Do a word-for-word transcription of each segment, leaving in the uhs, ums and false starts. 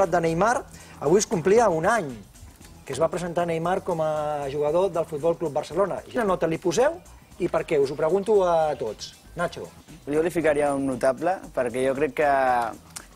de Neymar, avui es complia un any que es va presentar Neymar com a jugador del Futbol Club Barcelona. Quina nota li poseu i per què? Us ho pregunto a tots. Nacho. Jo li ficaria un notable, perquè jo crec que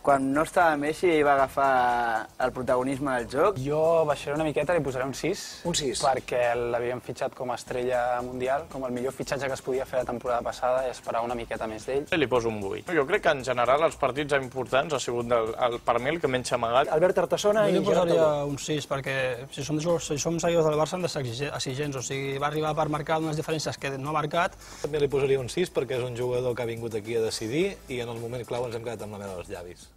quan no estava Messi ell va agafar el protagonisme del joc. Jo baixaré una miqueta, li posaré un sis. Un sis. Perquè l'havíem fitxat com a estrella mundial, com el millor fitxatge que es podia fer la temporada passada i esperar una miqueta més d'ell. Li poso un vuit. Jo crec que en general els partits importants ha sigut el, el, per mi el que menys amagat. Albert Artassona i Jo li posaria un sis, perquè si som, si som seguidors del Barça hem de ser exigents, o sigui, va arribar per marcar unes diferències que no ha marcat. També li posaria un sis perquè és un jugador que ha vingut aquí a decidir i en el moment clau ens hem quedat amb la mel als llavis.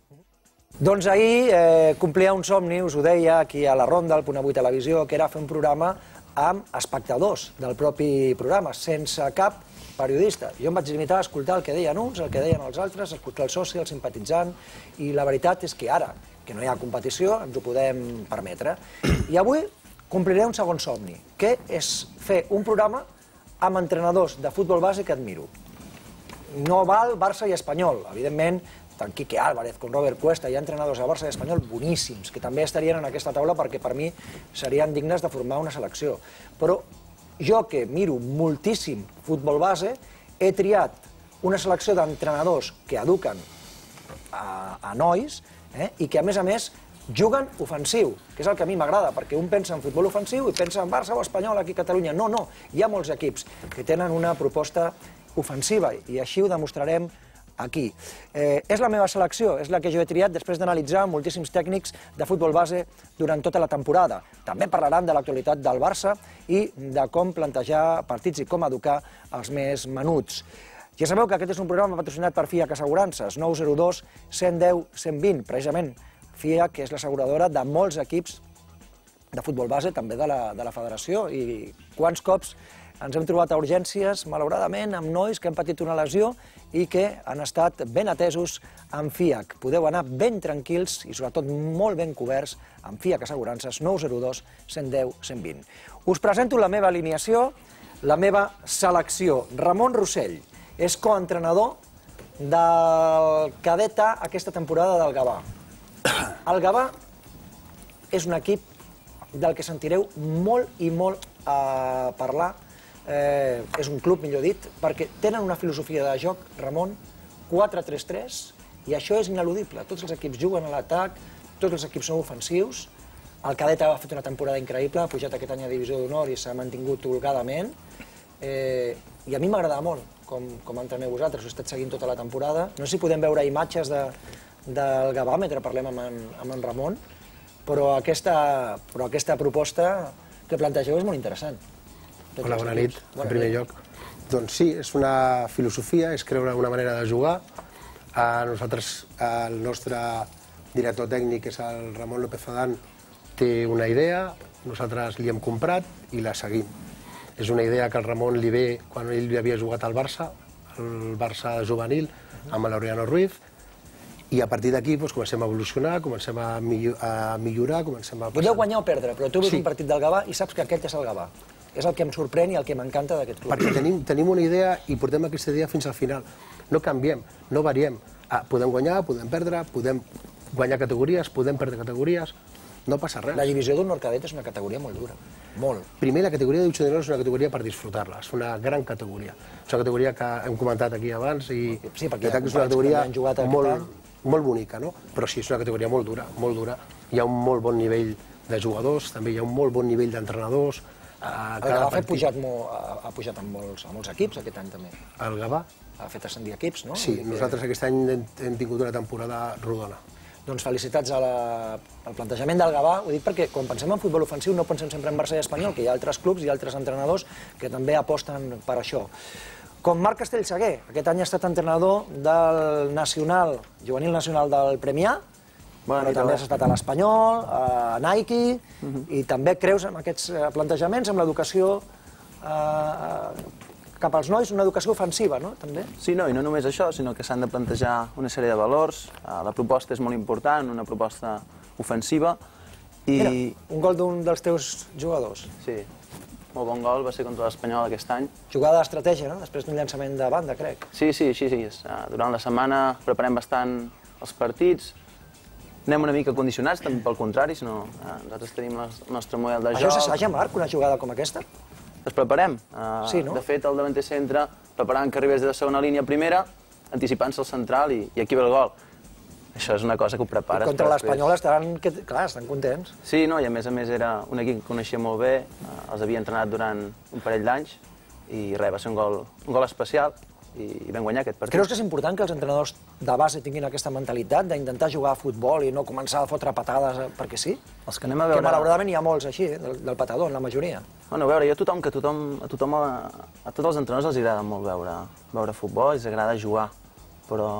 Doncs ahir eh, complia un somni, us ho deia, aquí a la Ronda, al Punt Avui Televisió, que era fer un programa amb espectadors del propi programa, sense cap periodista. Jo em vaig limitar a escoltar el que deien uns, el que deien els altres, escoltar el soci, el simpatitzant, i la veritat és que ara, que no hi ha competició, ens ho podem permetre. I avui compliré un segon somni, que és fer un programa amb entrenadors de futbol base que admiro. No val Barça i Espanyol, evidentment, tant Quique Álvarez com Robert Cuesta, hi ha entrenadors de Barça i Espanyol boníssims, que també estarien en aquesta taula perquè per mi serien dignes de formar una selecció. Però jo, que miro moltíssim futbol base, he triat una selecció d'entrenadors que eduquen a, a nois eh, i que, a més a més, juguen ofensiu, que és el que a mi m'agrada, perquè un pensa en futbol ofensiu i pensa en Barça o Espanyol aquí a Catalunya. No, no, hi ha molts equips que tenen una proposta ofensiva i així ho demostrarem aquí. Eh, és la meva selecció, és la que jo he triat després d'analitzar moltíssims tècnics de futbol base durant tota la temporada. També parlaran de l'actualitat del Barça i de com plantejar partits i com educar els més menuts. Ja sabeu que aquest és un programa patrocinat per FIAC Assegurances, nou zero dos, cent deu, cent vint, precisament FIAC, que és l'asseguradora de molts equips de futbol base, també de la, de la federació, i quants cops ens hem trobat a urgències, malauradament, amb nois que han patit una lesió i que han estat ben atesos amb FIAC. Podeu anar ben tranquils i sobretot molt ben coberts amb FIAC Assegurances nou zero dos, cent deu, cent vint. Us presento la meva alineació, la meva selecció. Ramon Rossell és coentrenador del cadet A aquesta temporada del Gavà. El Gavà és un equip del que sentireu molt i molt a parlar. Eh, és un club, millor dit, perquè tenen una filosofia de joc, Ramon, quatre tres tres, i això és ineludible. Tots els equips juguen a l'atac, tots els equips són ofensius. El cadet ha fet una temporada increïble, ha pujat aquest any a Divisió d'Honor i s'ha mantingut holgadament. Eh, I a mi m'agrada molt, com, com entreneu vosaltres, ho he estat seguint tota la temporada. No sé si podem veure imatges de, del Gavà mentre parlem amb en, amb en Ramon, però aquesta, però aquesta proposta que plantegeu és molt interessant. Hola, bona nit, en primer lloc. Doncs sí, és una filosofia, és creure una manera de jugar. Nosaltres, el nostre director tècnic, que és el Ramon López Adán, té una idea, nosaltres li hem comprat i la seguim. És una idea que al Ramon li ve quan ell havia jugat al Barça, el Barça juvenil, amb l'Oriano Ruiz, i a partir d'aquí comencem a evolucionar, comencem a millorar, comencem a... Podeu guanyar o perdre, però tu veus un partit del Gavà i saps que aquest és el Gavà. És el que em sorprèn i el que m'encanta d'aquest club. Perquè tenim, tenim una idea i portem aquesta idea fins al final. No canviem, no variem. Ah, podem guanyar, podem perdre, podem guanyar categories, podem perdre categories, no passa res. La divisió d'honor cadet és una categoria molt dura, molt. Primer, la categoria de divisió d'honor és una categoria per disfrutar-la, és una gran categoria. És una categoria que hem comentat aquí abans i sí, perquè és una categoria molt, molt bonica, no? Però sí, és una categoria molt dura, molt dura. Hi ha un molt bon nivell de jugadors, també hi ha un molt bon nivell d'entrenadors. El Gavà ha pujat, molt, ha pujat amb, molts, amb molts equips aquest any també. El Gavà? Ha fet ascendir equips, no? Sí, nosaltres aquest any hem, hem tingut una temporada rodona. Doncs felicitats a la, al plantejament del Gavà. Ho dic perquè quan pensem en futbol ofensiu no pensem sempre en Barça i Espanyol, que hi ha altres clubs i altres entrenadors que també aposten per això. Com Marc Castellsaguer, aquest any ha estat entrenador del nacional, juvenil nacional del Premià, però també has estat a l'Espanyol, a Nike, i també creus en aquests plantejaments, amb l'educació cap als nois, una educació ofensiva, no? També? Sí, no, i no només això, sinó que s'han de plantejar una sèrie de valors. La proposta és molt important, una proposta ofensiva. Mira, un gol d'un dels teus jugadors. Sí, molt bon gol, va ser contra l'Espanyol aquest any. Jugada d'estratègia, no? Després d'un llançament de banda, crec. Sí, sí, sí, sí. Durant la setmana preparem bastant els partits, anem una mica condicionats, també pel contrari, sinó eh, nosaltres tenim el nostre model de joc. Això s'assaja, Marc, una jugada com aquesta? Les preparem. Uh, sí, no? De fet, el davanter centre preparant que arribés de segona línia a primera, anticipant-se al central i, i aquí ve el gol. Això és una cosa que ho prepares. I contra l'Espanyol estaran, que, clar, estan contents. Sí, no, i a més a més era un equip que coneixia molt bé, uh, els havia entrenat durant un parell d'anys i res, va ser un gol, un gol especial i, i vam guanyar aquest partit. Creus que és important que els entrenadors de base tinguin aquesta mentalitat d'intentar jugar a futbol i no començar a fotre patades perquè sí? Els que anem a veure... Que malauradament hi ha molts així, del, del patador, en la majoria. Bueno, a veure, jo a tothom, que tothom, a tothom, a, a tots els entrenadors els agrada molt veure, veure futbol, els agrada jugar, però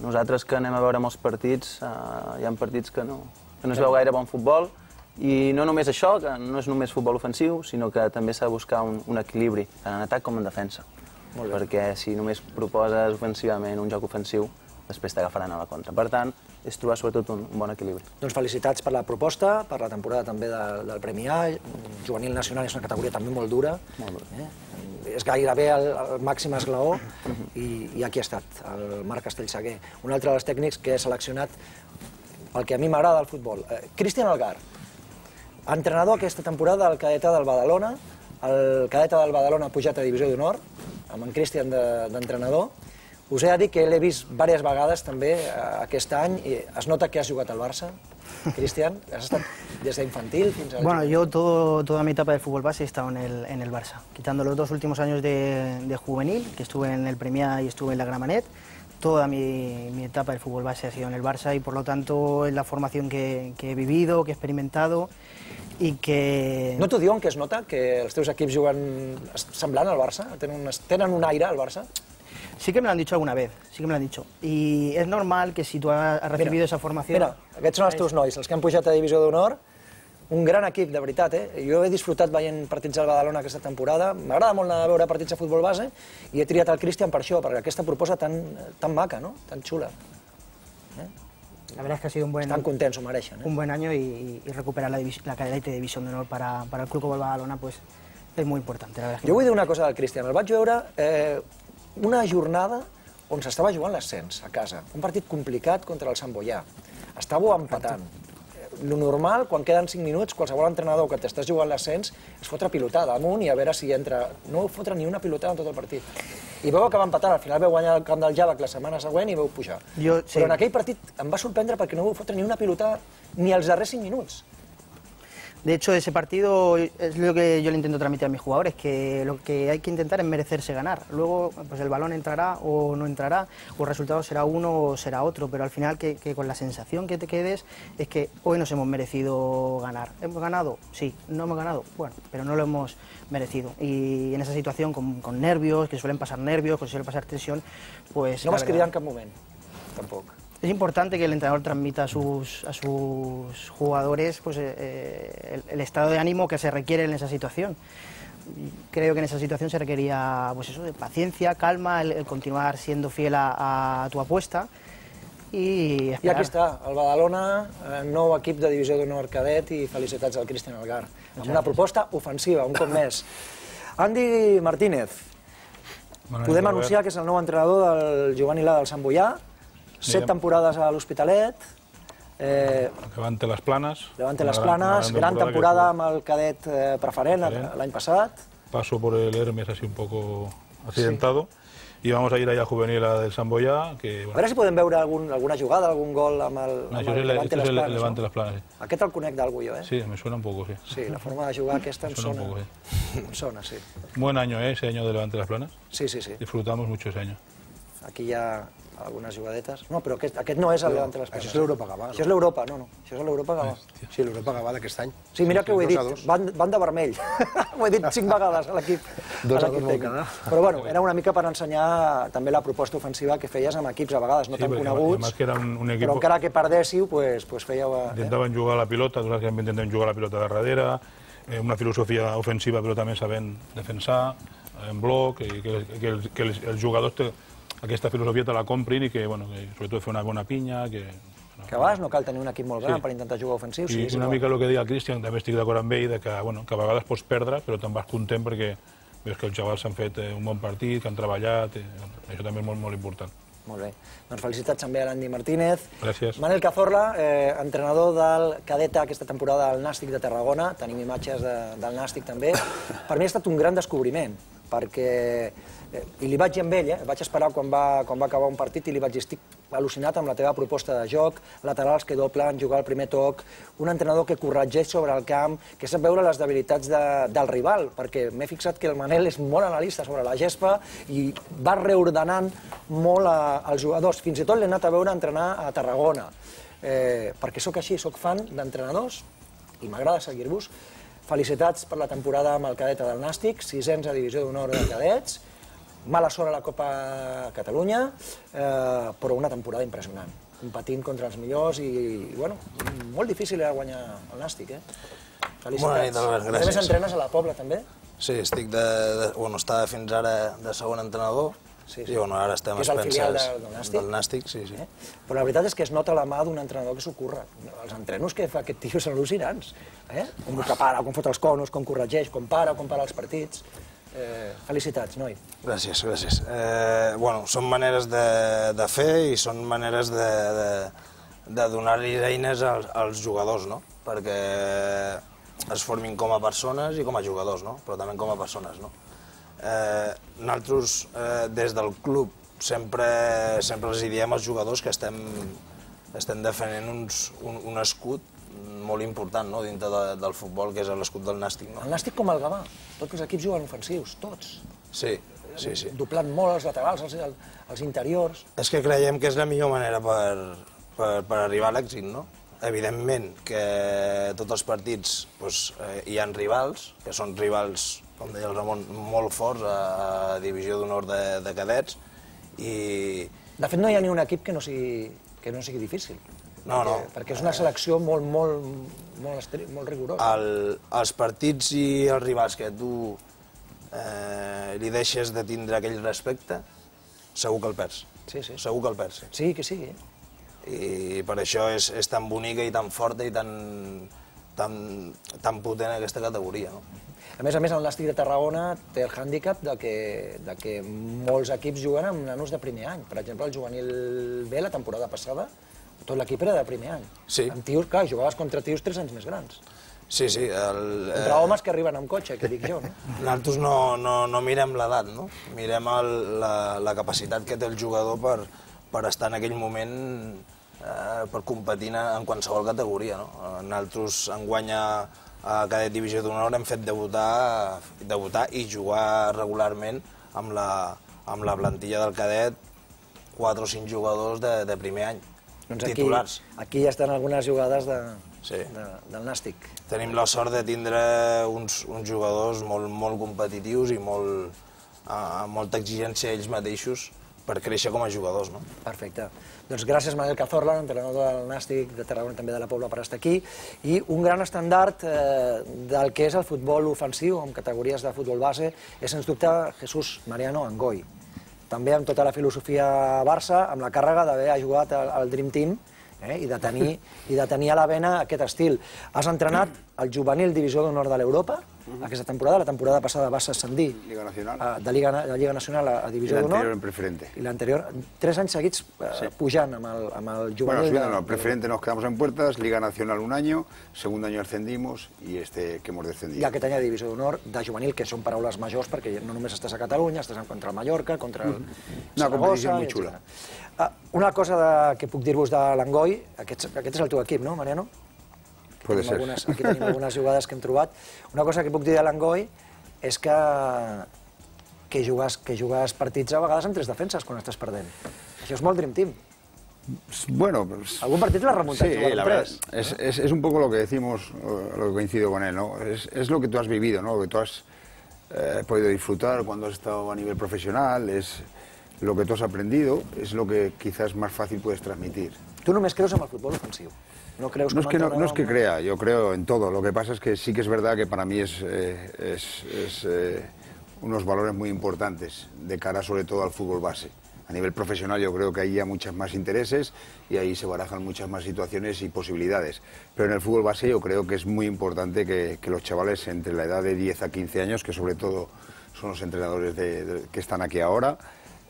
nosaltres que anem a veure molts partits, eh, hi ha partits que no, que no es veu gaire bon futbol, i no només això, que no és només futbol ofensiu, sinó que també s'ha de buscar un, un equilibri, tant en atac com en defensa. Perquè si només proposes ofensivament un joc ofensiu, després t'agafaran a la contra. Per tant, és trobar sobretot un, un bon equilibri. Doncs felicitats per la proposta, per la temporada també de, del Premi A. Juvenil nacional és una categoria també molt dura. Molt dura. Eh? És gairebé el, el màxim esglaó i, i aquí ha estat, el Marc Castellsaguer. Un altre dels tècnics que he seleccionat pel que a mi m'agrada el futbol. Eh, Cristian Algar, entrenador aquesta temporada al cadeta del Badalona. El cadeta del Badalona ha pujat a Divisió d'Honor, amb en Cristian d'entrenador. Us he de dir que l'he vist diverses vegades també aquest any i es nota que has jugat al Barça. Cristian, has estat des d'infantil fins a... Bueno, yo todo, toda mi etapa de fútbol base he estado en el, en el Barça. Quitando los dos últimos años de, de juvenil, que estuve en el Premià y estuve en la Gramenet, toda mi, mi etapa del fútbol base ha sido en el Barça y por lo tanto es la formación que, que he vivido, que he experimentado i que... No t'ho diuen que es nota que els teus equips juguen semblant al Barça? Tenen un, tenen un aire al Barça? Sí que me lo han dicho alguna vez, sí que me lo han dicho. Y es normal que si tú has recibido mira, esa formación... Mira, aquests són els teus nois, els que han pujat a Divisió d'Honor. Un gran equip, de veritat, eh? Jo he disfrutat veient partits del Badalona aquesta temporada. M'agrada molt anar a veure partits de futbol base i he triat el Cristian per això, per aquesta proposta tan, tan maca, no? Tan xula. Eh? La verdad es que ha sido un buen, Estan contents, ho mereixen. Eh? Un buen año y, y recuperar la, la cadeta de División de Honor para, para el Club Futbol Badalona pues, es muy importante. La verdad es que jo vull dir una cosa del Cristian. El vaig veure eh, una jornada on s'estava jugant l'ascens a casa. Un partit complicat contra el Sant Boià. Estàveu empatant. Lo normal, quan queden cinc minuts, qualsevol entrenador que t'estàs jugant l'ascens es fotre pilotada amunt i a veure si entra... No fotre ni una pilotada en tot el partit. I veu acabar empatant, al final veu guanyar el camp del Javac la setmana següent i veu pujar. Jo, sí. Però en aquell partit em va sorprendre perquè no veu fotre ni una pilotada ni els darrers cinc minuts. De hecho, ese partido es lo que yo le intento transmitir a mis jugadores, que lo que hay que intentar es merecerse ganar. Luego, pues el balón entrará o no entrará, o el resultado será uno o será otro, pero al final que, que con la sensación que te quedes es que hoy nos hemos merecido ganar. ¿Hemos ganado? Sí. ¿No hemos ganado? Bueno, pero no lo hemos merecido. Y en esa situación, con, con nervios, que suelen pasar nervios, que suele pasar tensión, pues... No vas cridar en cap moment, tampoc. Es importante que el entrenador transmita a sus, a sus jugadores pues, eh, el, el estado de ánimo que se requiere en esa situación. Creo que en esa situación se requería pues eso, de paciencia, calma, el, el continuar siendo fiel a, a tu apuesta i esperar. I aquí està, el Badalona, nou equip de Divisió d'Honor cadet i felicitats al Cristian Algar. Amb una proposta ofensiva, un cop més. Andy Martínez, podem anunciar que és el nou entrenador del juvenil A del Sant Boià. Set temporades a l'Hospitalet. Eh, Levante les Planes. Levante les Planes, gran, gran temporada amb el cadet eh, preferent l'any passat. Paso por el Hermes así un poco accidentado. Sí. Y vamos a ir allá a Juvenil a del Sant Boià. Que, bueno. A veure si podem veure algun, alguna jugada, algun gol amb el, no, amb el es Levante les Planes. Levante no? les Planes, sí. Aquest el conec d'algú jo, eh? Sí, me suena un poco, sí. Sí, la forma de jugar aquesta em suena. sona. Un poco, sí. Em sona, sí. Buen año, ¿eh? Ese año de Levante las Planes. Sí, sí, sí. Disfrutamos mucho ese año. Aquí hi ha algunes jugadetes. No, però aquest, aquest no és el Levante les Planes. Això és l'Europa Gavà. Això és l'Europa, no, no. Això és l'Europa Gavà. Sí, l'Europa Gavà d'aquest any. Sí, mira que ho he dit, van, van de vermell. Ho he dit cinc vegades a l'equip. Dos a dos vol quedar. Però bueno, era una mica per ensenyar també la proposta ofensiva que feies amb equips a vegades no sí, tan coneguts, que era un, un equipo... però encara que perdéssiu, pues, pues fèieu... Eh? Intentaven jugar a la pilota, nosaltres també intentem jugar a la pilota de darrere, eh, una filosofia ofensiva però també sabent defensar, en bloc, i que, que, els, que els, els jugadors te, aquesta filosofia te la comprin i que, bueno, que sobretot fer una bona pinya, que... No, que a vegades no cal tenir un equip molt gran sí. per intentar jugar ofensiu. I sí, una mica el que deia el Cristian, també estic d'acord amb ell, de que, bueno, que a vegades pots perdre, però te'n vas content perquè veus que els xavals s'han fet un bon partit, que han treballat, i, això també és molt, molt important. Molt bé. Doncs felicitats també a l'Andy Martínez. Gràcies. Manel Cazorla, eh, entrenador del cadeta aquesta temporada del Nàstic de Tarragona. Tenim imatges de, del Nàstic també. Per mi ha estat un gran descobriment, perquè... Eh, I li vaig dir amb ell, eh? Vaig esperar quan va, quan va acabar un partit i li vaig dir estic al·lucinat amb la teva proposta de joc, laterals que doblen, jugar al primer toc, un entrenador que corregeix sobre el camp, que sap veure les debilitats de, del rival, perquè m'he fixat que el Manel és molt analista sobre la gespa i va reordenant molt a, als jugadors. Fins i tot l'he anat a veure entrenar a Tarragona, eh, perquè sóc així, sóc fan d'entrenadors i m'agrada seguir-vos. Felicitats per la temporada amb el cadeta del Nàstic, sisens a Divisió d'Honor de Cadets, mala sort a la Copa Catalunya, eh, però una temporada impressionant, competint contra els millors i, i bueno, molt difícil era guanyar el Nàstic, eh? Felicitats. Bona nit, Albert, gràcies. A més, entrenes a la Pobla, també? Sí, estic de... de bueno, estava fins ara de segon entrenador, sí, sí. I bueno, ara estem a Spencer. Que és el filial del, del Nàstic? Del Nàstic, sí, sí. Eh? Però la veritat és que es nota la mà d'un entrenador que s'ho curra. Els entrenos que fa aquest tio són al·lucinants, eh? Com prepara, com fot els conos, com corregeix, com para, com para els partits... Eh, felicitats, noi. Gràcies, gràcies. Eh, bueno, són maneres de, de fer i són maneres de, de, de donar-li eines als, als jugadors, no? Perquè es formin com a persones i com a jugadors, no? Però també com a persones, no? Eh, nosaltres, eh, des del club, sempre, sempre els diem als jugadors que estem, estem defendent uns, un, un escut molt important, no?, dintre de, del futbol, que és l'escut del Nàstic. No? El Nàstic com el Gavà, tots els equips juguen ofensius, tots. Sí, sí, sí. Doblant molt els laterals, els, els interiors... És que creiem que és la millor manera per, per, per arribar a l'èxit, no? Evidentment que tots els partits doncs, eh, hi ha rivals, que són rivals, com deia el Ramon, molt forts a, a Divisió d'Honor de, de Cadets, i... De fet, no hi ha ni un equip que no sigui, que no sigui difícil. No, no. Perquè és una selecció molt, molt, molt, molt rigorosa. El, els partits i els rivals que tu eh, li deixes de tindre aquell respecte, segur que el perds. Sí, sí. Segur que el perds. Sí, que sí. I per això és, és tan bonica i tan forta i tan, tan, tan potent aquesta categoria. No? A més a més, el Nàstic de Tarragona té el hàndicap de que, de que molts equips juguen amb nanos de primer any. Per exemple, el juvenil B, la temporada passada, tot l'equip era de primer any. Sí. Amb tios, clar, jugaves contra tios tres anys més grans. Sí, sí. El, contra homes que arriben amb cotxe, que dic jo, no? Nosaltres no, no, no mirem l'edat, no? Mirem el, la, la capacitat que té el jugador per, per estar en aquell moment, eh, per competir en qualsevol categoria, no? Nosaltres enguany a Cadet Divisió d'Honor hem fet debutar, debutar i jugar regularment amb la, amb la plantilla del cadet quatre o cinc jugadors de, de primer any. Doncs aquí, titulars. Aquí ja estan algunes jugades de, sí. de, del Nàstic. Tenim la sort de tindre uns, uns jugadors molt, molt competitius i molt, amb molta exigència ells mateixos per créixer com a jugadors. No? Perfecte. Doncs gràcies, Manel Cazorla, entrenador del Nàstic de Tarragona, també de la Pobla, per estar aquí. I un gran estandard eh, del que és el futbol ofensiu, amb categories de futbol base, és, sens dubte, Jesús Mariano Angoi. També amb tota la filosofia Barça, amb la càrrega d'haver jugat al, al Dream Team eh, i, de tenir, i de tenir a la vena aquest estil. Has entrenat el juvenil Divisió d'Honor de l'Europa aquesta temporada. La temporada passada vas ascendir Liga Nacional. A, de, Liga, de Lliga Nacional a, a Divisió d'Honor. I l'anterior en preferente. I l'anterior, tres anys seguits eh, sí. pujant amb el, amb el juvenil. Bueno, subiendo, de, no, preferente nos quedamos en puertas, Liga Nacional un año, segundo año ascendimos y este que hemos descendido. I aquest any a Divisió d'Honor de juvenil, que són paraules majors perquè no només estàs a Catalunya, estàs contra el Mallorca, contra el mm. Una competició molt xula. Uh, una cosa de, que puc dir-vos de l'Angoi, aquest, aquest és el teu equip, no, Mariano? Puede ser. Algunes, aquí tenim algunes jugades que hem trobat. Una cosa que puc dir de l'Angoi és que, que, jugues, que jugues partits a vegades amb tres defenses quan estàs perdent. Això és molt Dream Team. Bueno, pues, algún partido la remonta. Sí, la verdad, es, es, es un poco lo que decimos, lo que coincido con él, ¿no? Es, es lo que tú has vivido, ¿no? Lo que tú has eh, podido disfrutar cuando has estado a nivel profesional, es lo que tú has aprendido, es lo que quizás más fácil puedes transmitir. ¿Tú només creus en el futbol ofensiu? No, creus no, es que no, no es que no? crea, yo creo en todo. Lo que pasa es que sí que es verdad que para mí es, eh, es, es eh, unos valores muy importantes de cara sobre todo al fútbol base. A nivel profesional yo creo que ahí hay muchas más intereses y ahí se barajan muchas más situaciones y posibilidades. Pero en el fútbol base yo creo que es muy importante que, que los chavales entre la edad de diez a quince años, que sobre todo son los entrenadores de, de, que están aquí ahora,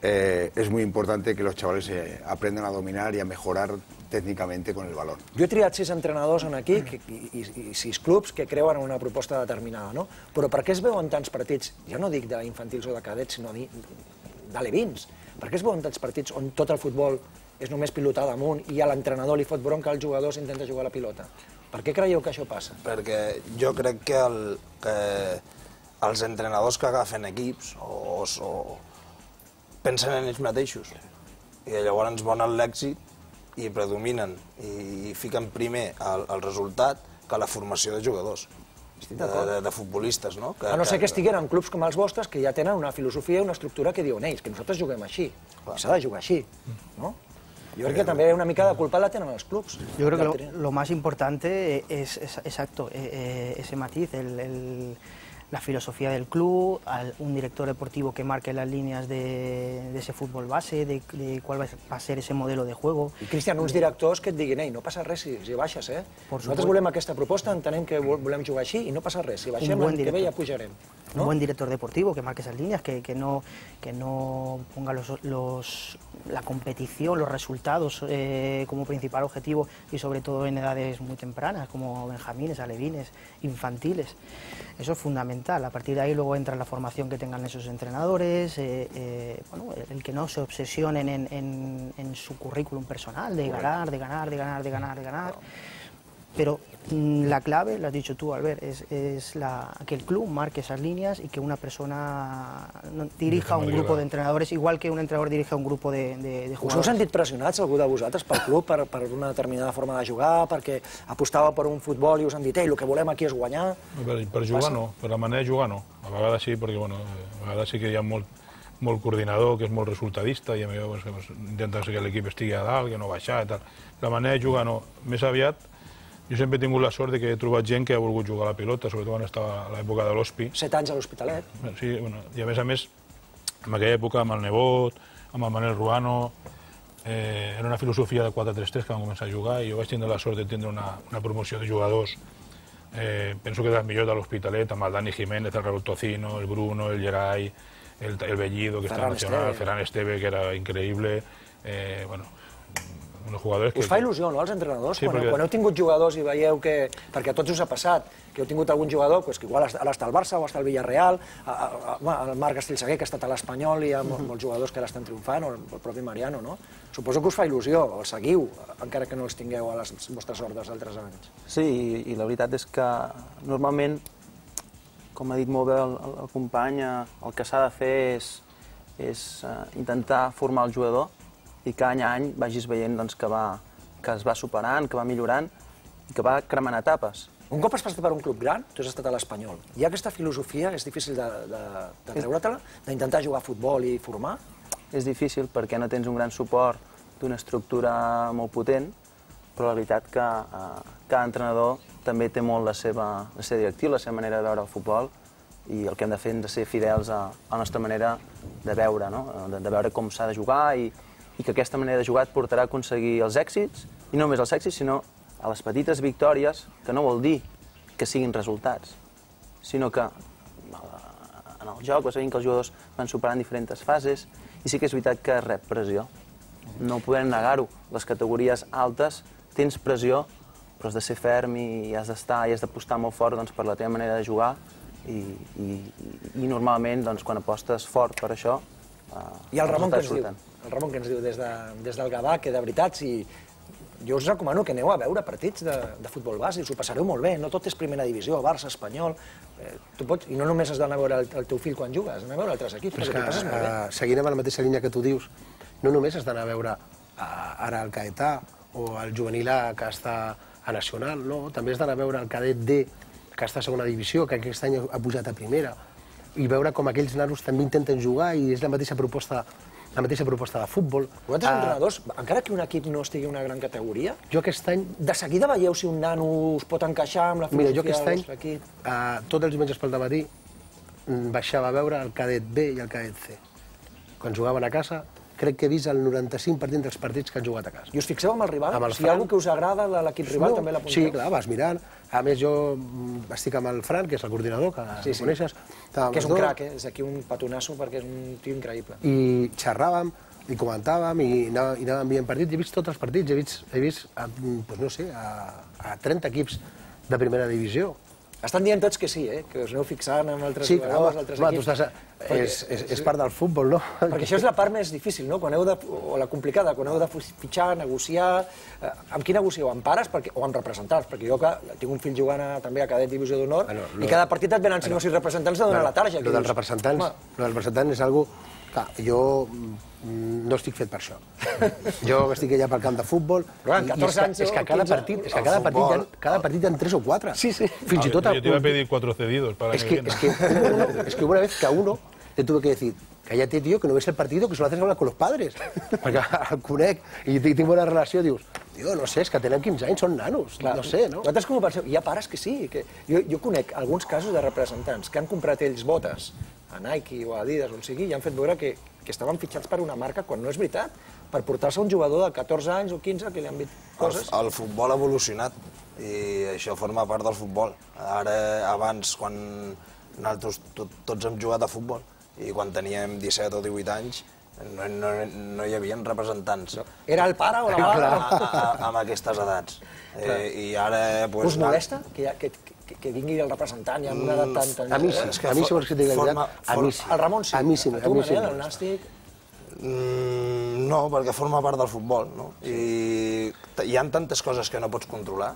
eh, es muy importante que los chavales eh, aprendan a dominar y a mejorar técnicamente con el balón. Jo he triat sis entrenadors en aquí que, i, i, i sis clubs que creuen en una proposta determinada, no? Però per què es veuen tants partits, ja no dic d'infantils o de cadets, sinó d'alevins? Per què es veuen tants partits on tot el futbol és només pilotar damunt i a l'entrenador li fot bronca als jugadors i intenta jugar a la pilota? Per què creieu que això passa? Perquè jo crec que, el, que els entrenadors que agafen equips o, o pensen en ells mateixos i llavors volen l'èxit i predominen i fiquen primer el, el resultat que la formació de jugadors, de, de, de futbolistes, no? Que, a no ser que que estiguin en clubs com els vostres que ja tenen una filosofia i una estructura que diuen ells, que nosaltres juguem així, s'ha de jugar així, no? Yo creo que también una mica de culpa la tienen los clubs. Yo creo que lo, lo más importante es, es exacto, eh, ese matiz, el, el, la filosofía del club, al, un director deportivo que marque las líneas de, de ese fútbol base, de, de cuál va a ser ese modelo de juego. I, Cristian, uns directors que et diguin, ei, no passa res si, si baixes, eh? Por Nosaltres supuesto. volem aquesta proposta, entenem que volem jugar així i no passa res. Si baixem, l'any que ve ja pujarem. Un ¿no? buen director deportivo que marque esas líneas, que, que, no, que no ponga los, los, la competición, los resultados eh, como principal objetivo y sobre todo en edades muy tempranas, como benjamines, alevines, infantiles. Eso es fundamental. A partir de ahí luego entra la formación que tengan esos entrenadores, eh, eh, bueno, el que no se obsesionen en, en, en su currículum personal, de ganar, de ganar, de ganar, de ganar, de ganar. Pero mm, la clave, lo has dicho tú, Albert, es, es la, que el club marque esas líneas y que una persona no, dirija un grupo de entrenadores, igual que un entrenador dirige un grupo de, de, de Us heu jugadors. sentit pressionats, algú de vosaltres, pel club, per, per una determinada forma de jugar, perquè apostava per un futbol i us han dit, ei, el que volem aquí és guanyar? Per, per jugar no, per la manera de jugar no. A vegades sí, perquè bueno, a vegades sí que hi ha molt, molt coordinador, que és molt resultadista, i a mi pues, pues, intenta que l'equip estigui a dalt, que no baixar i tal. La manera de jugar no. Més aviat, jo sempre he tingut la sort de que he trobat gent que ha volgut jugar a la pilota, sobretot quan estava a l'època de l'Hospi. Set anys a l'Hospitalet. Sí, bueno, i a més a més, en aquella època amb el Nebot, amb el Manel Ruano, eh, era una filosofia de quatre tres tres que vam començar a jugar i jo vaig tindre la sort de tindre una, una promoció de jugadors. Eh, penso que dels millors de l'Hospitalet, amb el Dani Jiménez, el Raúl Tocino, el Bruno, el Geray, el, el Bellido, que estava nacional, el Ferran Esteve, que era increïble. Eh, bueno, uns jugadors que... Us fa il·lusió, no, als entrenadors? Sí, quan, perquè... quan heu tingut jugadors i veieu que... Perquè a tots us ha passat, que heu tingut algun jugador pues, que igual ara està al Barça o està al Villarreal, a, a, a, el Marc Castellsaguer, que ha estat a l'Espanyol, i hi ha molts, molts jugadors que ara estan triomfant, o el propi Mariano, no? Suposo que us fa il·lusió, el seguiu, encara que no els tingueu a les vostres ordres d'altres anys. Sí, i, i la veritat és que normalment, com ha dit molt bé el, el company, el que s'ha de fer és, és uh, intentar formar el jugador i que any a any vagis veient doncs, que, va, que es va superant, que va millorant i que va cremant etapes. Un cop has passat per un club gran, tu has estat a l'Espanyol, i aquesta filosofia és difícil de, de, de treure-te-la, d'intentar jugar a futbol i formar? És difícil perquè no tens un gran suport d'una estructura molt potent, però la veritat que eh, cada entrenador també té molt la seva, la seva directiva, la seva manera de veure el futbol, i el que hem de fer és de ser fidels a, a la nostra manera de veure, no? de, de veure com s'ha de jugar i, i que aquesta manera de jugar et portarà a aconseguir els èxits, i no només els èxits, sinó a les petites victòries, que no vol dir que siguin resultats, sinó que en el joc vas veient que els jugadors van superant diferents fases, i sí que és veritat que rep pressió. No podem negar-ho. Les categories altes tens pressió, però has de ser ferm i has d'estar i has d'apostar molt fort doncs, per la teva manera de jugar, i, i, i normalment doncs, quan apostes fort per això, eh, I el Ramon què ens diu? surten. El Ramon que ens diu des, de, des del Gavà, que de veritat, si... jo us recomano que aneu a veure partits de, de futbol base, us ho passareu molt bé, no tot és primera divisió, Barça, Espanyol, eh, tu pots, i no només has d'anar a veure el, el teu fill quan jugues, has d'anar a veure altres equips, Però és perquè t'ho passes molt bé. Uh, seguint amb la mateixa línia que tu dius, no només has d'anar a veure uh, ara el Caetà o el juvenil A que està a Nacional, no, també has d'anar a veure el cadet D que està a segona divisió, que aquest any ha pujat a primera, i veure com aquells nanos també intenten jugar i és la mateixa proposta la mateixa proposta de futbol. Vosaltres, uh, entrenadors, encara que un equip no estigui en una gran categoria, jo aquest any... de seguida veieu si un nano us pot encaixar amb la filosofia Mira, jo aquest any, del vostre equip? uh, tots els diumenges pel dematí, baixava a veure el cadet B i el cadet C. Quan jugaven a casa, crec que he vist el noranta-cinc per cent dels partits que han jugat a casa. I us fixeu amb el rival? Amb el Si hi ha Fran. algú que us agrada de l'equip rival, No, també l'apunteu? Sí, clar, vas mirant. A més, jo mm, estic amb el Fran, que és el coordinador, que Sí, el sí. coneixes. Estàvem Que és els un dos, crac, eh? És aquí un petonasso perquè és un tio increïble. I xerràvem, i comentàvem, i anàvem, i anàvem veient partits. He vist tots els partits, he vist, he vist a, pues no sé, a, a trenta equips de primera divisió. Estan dient tots que sí, eh? Que us aneu fixant amb altres Sí, jugadors, home, altres home, tu equips. estàs a, és, és, és part del futbol, no? Perquè això és la part més difícil, no? Quan heu de, o la complicada, quan heu de fitxar, negociar... Eh, amb qui negocieu? Amb pares perquè, o amb representants? Perquè jo que tinc un fill jugant a, també a cadet divisió d'honor Bueno, i cada partit et venen cinc o sis representants a donar la tarja. Lo dels representants, lo dels representants és algo... Clar, jo mm, no estic fet per això. Jo estic allà pel camp de futbol Però, en i- i catorze és que, anys és que o cada quinze, partit, és que el cada partit, hi ha, futbol- cada partit hi ha tres o quatre. Sí, sí. Fins i tot... Yo te iba a pedir cuatro cedidos para Es que, que, es, que hubo uno- es que hubo una vez que a uno le tuve que decir, cállate, tío, que no ves el partido, que solo haces hablar con los padres. Perquè el conec i tinc bona relació, dius, tio, no sé, és que tenen quinze anys, són nanos, Clar. no sé, no? Vosaltres com ho penseu? Hi ha pares que sí. Que... Jo, jo conec alguns casos de representants que han comprat ells botes a Nike o a Adidas, on sigui, i han fet veure que, que estaven fitxats per una marca quan no és veritat, per portar-se un jugador de catorze anys o quinze que li han dit coses. El, el futbol ha evolucionat i això forma part del futbol. Ara, abans, quan nosaltres tot, tots hem jugat a futbol i quan teníem disset o divuit anys, no, no, no hi havia representants. Era el pare o la mare? A, a, a, amb aquestes edats. Eh, I ara... Pues, Us molesta que, hi ha, que, que, que vingui el representant i amb una edat tan... tan... A mi sí, És que a mi si for- vols que et digui la forma- veritat, a mi sí. El Ramon sí. A mi sí, A a tu, mi sí. Manel, el nàstic... Mm, no, perquè forma part del futbol, no? I t- hi ha tantes coses que no pots controlar,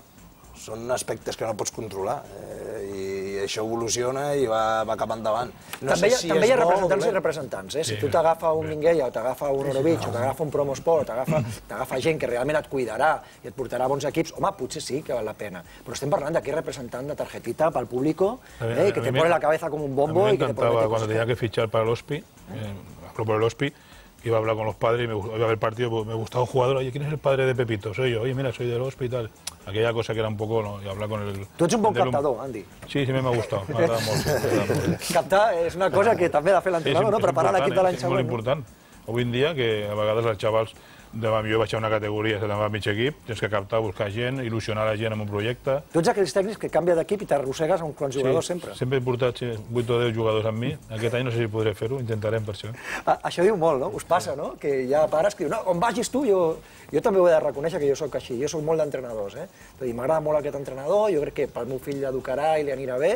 són aspectes que no pots controlar, eh, i això evoluciona i va, va cap endavant. No també hi ha, sé si també hi ha és bo o representants i dolent. representants, eh? Si Sí. tu t'agafa un Minguella o t'agafa un Orovich o t'agafa un Promosport o t'agafa t'agafa gent que realment et cuidarà i et portarà bons equips, home, potser sí que val la pena. Però estem parlant d'aquí representant de tarjetita pel público, A mí- eh, a que mí te me- pone la cabeza como un A bombo mí me y que te encantaba promete cuando cosas. tenía que fichar para el Hospi, eh, hablo por el Hospi, iba a hablar con los padres y me, gust- iba a ver el partido, pues, me gustaba un jugador, oye, ¿quién es el padre de Pepito? Soy yo, oye, mira, soy del Hospi y tal. Aquella cosa que era un poco, ¿no? Y hablar con el... Tu ets un bon del- captador, Andy. Sí, sí, me ha gustado, m'ha agradat molt. sí, m'ha agradat molt. Captar és una cosa que també ha de fer Sí, l'entrenador, no? és Preparar important, l'equip de l'any és molt següent. no? important. Avui en dia, que a vegades els xavals, de, jo vaig a una categoria, se te'n va a mig equip, tens que captar, buscar gent, il·lusionar la gent amb un projecte. Tu ets aquells tècnics que canvia d'equip i t'arrossegues a uns quants jugadors sempre. Sempre he portat sí, vuit o deu jugadors amb mi. Aquest any no sé si podré fer-ho, intentarem per això. A- Això diu molt, no? Us passa, no? Que hi ha pares que diuen, no, on vagis tu, jo, jo també ho he de reconèixer que jo sóc així, jo sóc molt d'entrenadors, eh? És a dir, m'agrada molt aquest entrenador, jo crec que pel meu fill l'educarà i li anirà bé,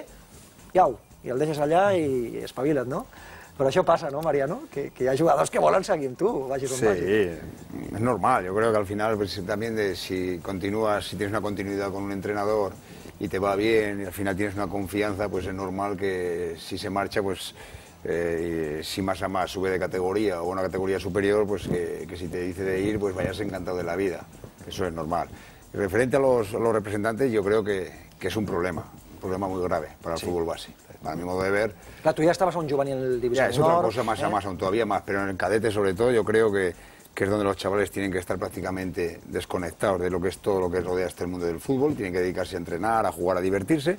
i au, i el deixes allà i espavila't, no? Però això passa, ¿no, Mariano? Que, que hi ha jugadors que volen seguir amb tu, vagis on Sí, vagis. es normal. Yo creo que al final pues, también de, si continúas, si tienes una continuidad con un entrenador y te va bien y al final tienes una confianza, pues es normal que si se marcha, pues eh, si más a más sube de categoría o una categoría superior, pues que, que si te dice de ir, pues vayas encantado de la vida. Eso es normal. Y referente a los, a los representantes, yo creo que, que es un problema, un problema muy grave para el fútbol base. Para mi modo de ver, Clar, tu ja estaves a un juvenil divisió ya, es otra d'honor, cosa más eh? a más, aún todavía más, pero en el cadete sobre todo yo creo que, que es donde los chavales tienen que estar prácticamente desconectados de lo que es todo lo que rodea este mundo del fútbol, tienen que dedicarse a entrenar, a jugar, a divertirse,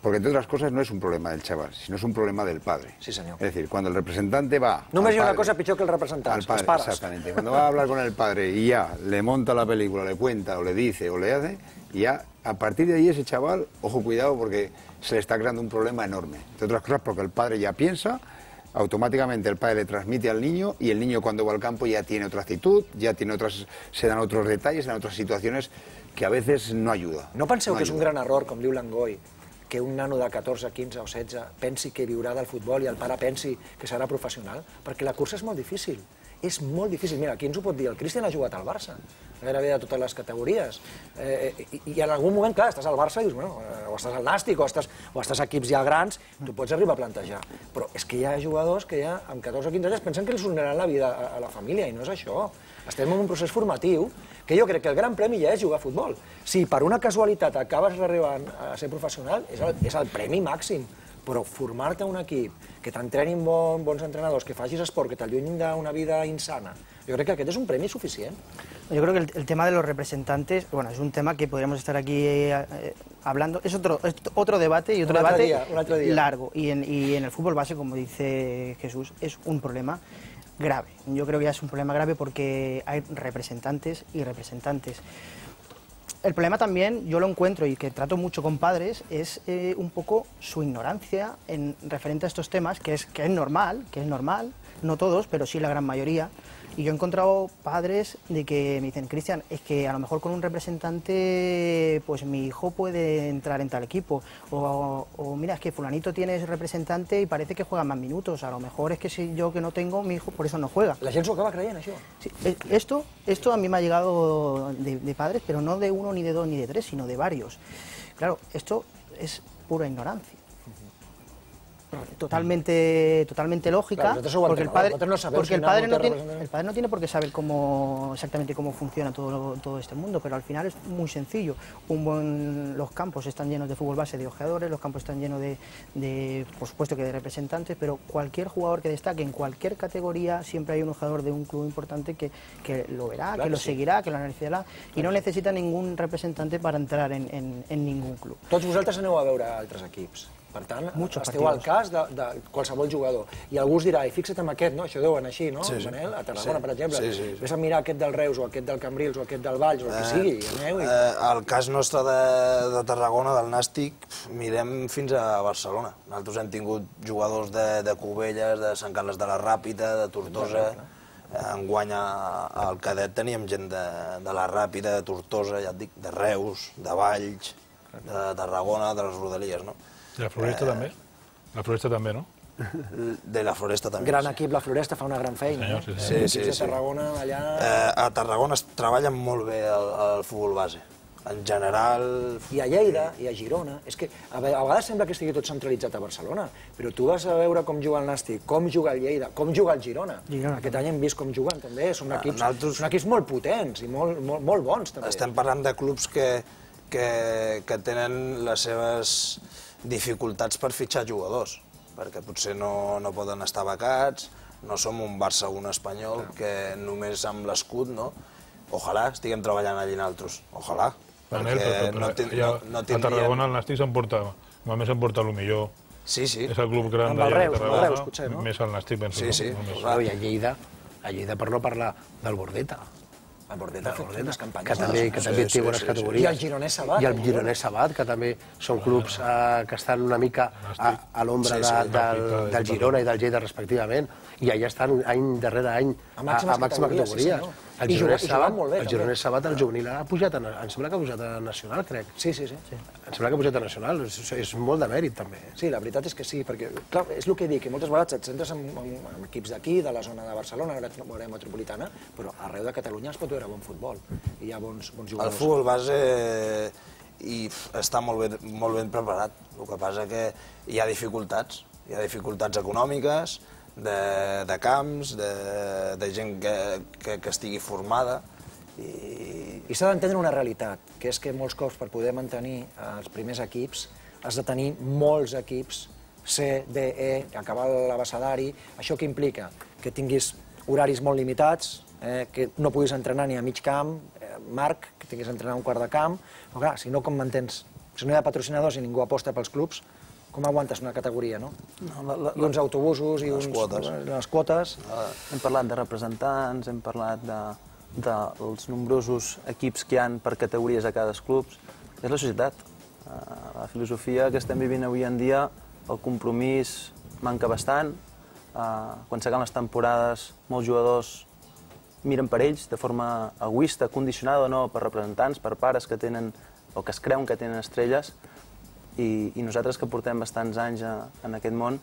porque entre otras cosas no es un problema del chaval, sino es un problema del padre. Sí, senyor. Es decir, cuando el representante va... Només al hi ha una padre- cosa pitjor que els representants, al padre, els pares. exactamente. Cuando va a hablar con el padre y ya le monta la película, le cuenta o le dice o le hace, y ya a partir de ahí ese chaval, ojo, cuidado, porque se le está creando un problema enorme. Entre otras cosas porque el padre ya piensa, automáticamente el padre le transmite al niño y el niño cuando va al campo ya tiene otra actitud, ya tiene otras, se dan otros detalles, se dan otras situaciones que a veces no ayuda. No penseu No que és un ayuda. gran error, com diu l'Angoi, que un nano de catorze, quinze o setze pensi que viurà del futbol i el pare pensi que serà professional? Perquè la cursa és molt difícil. És molt difícil. Mira, qui ens ho pot dir? El Cristian ha jugat al Barça, gairebé de totes les categories. Eh, i, I en algun moment, clar, estàs al Barça i dius, bueno, eh, o estàs al Nàstic, o estàs, o estàs a equips ja grans, tu pots arribar a plantejar. Però és que hi ha jugadors que ja amb catorze o quinze anys pensen que els donaran la vida a, a la família, i no és això. Estem en un procés formatiu que jo crec que el gran premi ja és jugar a futbol. Si per una casualitat acabes arribant a ser professional, és el, és el premi màxim. Però formar-te un equip, que t'entrenin bon, bons entrenadors, que facis esport, que t'allunyin d'una vida insana, jo crec que aquest és un premi suficient. Yo creo que el, el tema de los representantes, bueno, es un tema que podríamos estar aquí eh, eh, hablando. Es otro, es otro debate y otro Un otro debate día, un otro día. largo. Y en, y en el fútbol base, como dice Jesús, es un problema. grave. Yo creo que ya es un problema grave porque hay representantes y representantes. El problema también, yo lo encuentro y que trato mucho con padres, es eh, un poco su ignorancia en referente a estos temas, que es, que es normal, que es normal, no todos, pero sí la gran mayoría. Y yo he encontrado padres de que me dicen, Cristian, es que a lo mejor con un representante, pues mi hijo puede entrar en tal equipo. O, o mira, es que fulanito tiene ese representante y parece que juega más minutos. A lo mejor es que si yo que no tengo, mi hijo por eso no juega. La gent s'ho acaba creient, això. Sí, esto, esto a mí me ha llegado de, de padres, pero no de uno, ni de dos, ni de tres, sino de varios. Claro, esto es pura ignorancia. Totalmente, totalmente lógica, claro, porque el padre, no sabemos porque el si padre no no tiene, el padre no tiene por qué saber cómo exactamente cómo funciona todo, todo este mundo, pero al final es muy sencillo. Un buen, los campos están llenos de fútbol base de ojeadores, los campos están llenos de, de, por supuesto que de representantes, pero cualquier jugador que destaque en cualquier categoría siempre hay un ojeador de un club importante que, que lo verá, claro, que lo sí. seguirá, que lo analizará, claro. Y no necesita ningún representante para entrar en, en, en ningún club. Tots vosaltres aneu a veure altres equips. Per tant, Muchos esteu partidos. al cas de, de qualsevol jugador. I algú us dirà, i fixa't en aquest, no? Això deu anar així, no, sí, sí. Manel? A Tarragona, sí. per exemple. Sí, sí, sí. Ves a mirar aquest del Reus, o aquest del Cambrils, o aquest del Valls, o el que Eh, sigui, i aneu i... Eh, el cas nostre de, de Tarragona, del Nàstic, mirem fins a Barcelona. Nosaltres hem tingut jugadors de, de Cubelles, de Sant Carles de la Ràpita, de Tortosa. Enguany al cadet teníem gent de, de la Ràpita, de Tortosa, ja et dic, de Reus, de Valls, de Tarragona, de les Rodalies, no? I la Floresta eh, també? La Floresta també, no? De la Floresta també. Gran equip, la Floresta fa una gran feina, Senyor, no? sí, sí, sí, de sí. Tarragona, allà... Eh, a Tarragona es treballa molt bé el, el futbol base. En general... I a Lleida, i a Girona. És que a vegades sembla que estigui tot centralitzat a Barcelona, però tu vas a veure com juga el Nàstic, com juga el Lleida, com juga el Girona. Girona Aquest any hem vist com juguen, també. Són equips, Nosaltres... són equips molt potents i molt, molt, molt bons, també. Estem parlant de clubs que, que, que tenen les seves dificultats per fitxar jugadors, perquè potser no, no poden estar becats, no som un Barça o un Espanyol que només amb l'escut, no? Ojalà estiguem treballant allí nosaltres, ojalà. Manel, perquè però, però, no, ten, ja, no, no a tindrien... Tarragona el Nàstic s'emporta, només s'emporta el millor. Sí, sí. És el club gran Amb el d'allà de Reus, amb el Tarragona, Reus, potser, no? més el Nàstic, penso. Sí, sí. No? Claro, i a Lleida, a Lleida per no parlar del Bordeta. El Bordeta ha fet unes campanyes. Que també, que també té bones categories. I el Gironès Sabat. I el Gironès Sabat, que també són clubs eh, que estan una mica a, a l'ombra de, del, del Girona i del Lleida respectivament, i allà estan any darrere any a màxima categoria. El Gironès Sabat, el Gironès Sabat, el juvenil ha pujat, a, em sembla que ha pujat a nacional, crec. Sí, sí, sí. Em sembla que ha pujat a nacional, és, és molt de mèrit també. Sí, la veritat és que sí, perquè clar, és el que dic, que moltes vegades et centres en, en, en equips d'aquí, de la zona de Barcelona, l'àrea metropolitana, però arreu de Catalunya es pot veure bon futbol. I hi ha bons, bons jugadors. El futbol base i està molt ben, molt ben preparat. El que passa que hi ha dificultats. Hi ha dificultats econòmiques, de, de camps, de, de gent que, que, que estigui formada. I, I s'ha d'entendre una realitat, que és que molts cops per poder mantenir els primers equips has de tenir molts equips, C, D, E, acabar l'abecedari. Això què implica? Que tinguis horaris molt limitats, eh, que no puguis entrenar ni a mig camp, eh, Marc, que tinguis d'entrenar a un quart de camp, però clar, si no com mantens? Si no hi ha patrocinadors i ningú aposta pels clubs, com aguantes una categoria, no? No, la, la, I uns autobusos i les uns, quotes. les quotes. Hem parlat de representants, hem parlat de, dels nombrosos equips que hi ha per categories a cada club. És la societat. La filosofia que estem vivint avui en dia, el compromís manca bastant. Quan s'acaben les temporades, molts jugadors miren per ells de forma egoista, condicionada o no per representants, per pares que tenen o que es creuen que tenen estrelles. I, i nosaltres que portem bastants anys a, en aquest món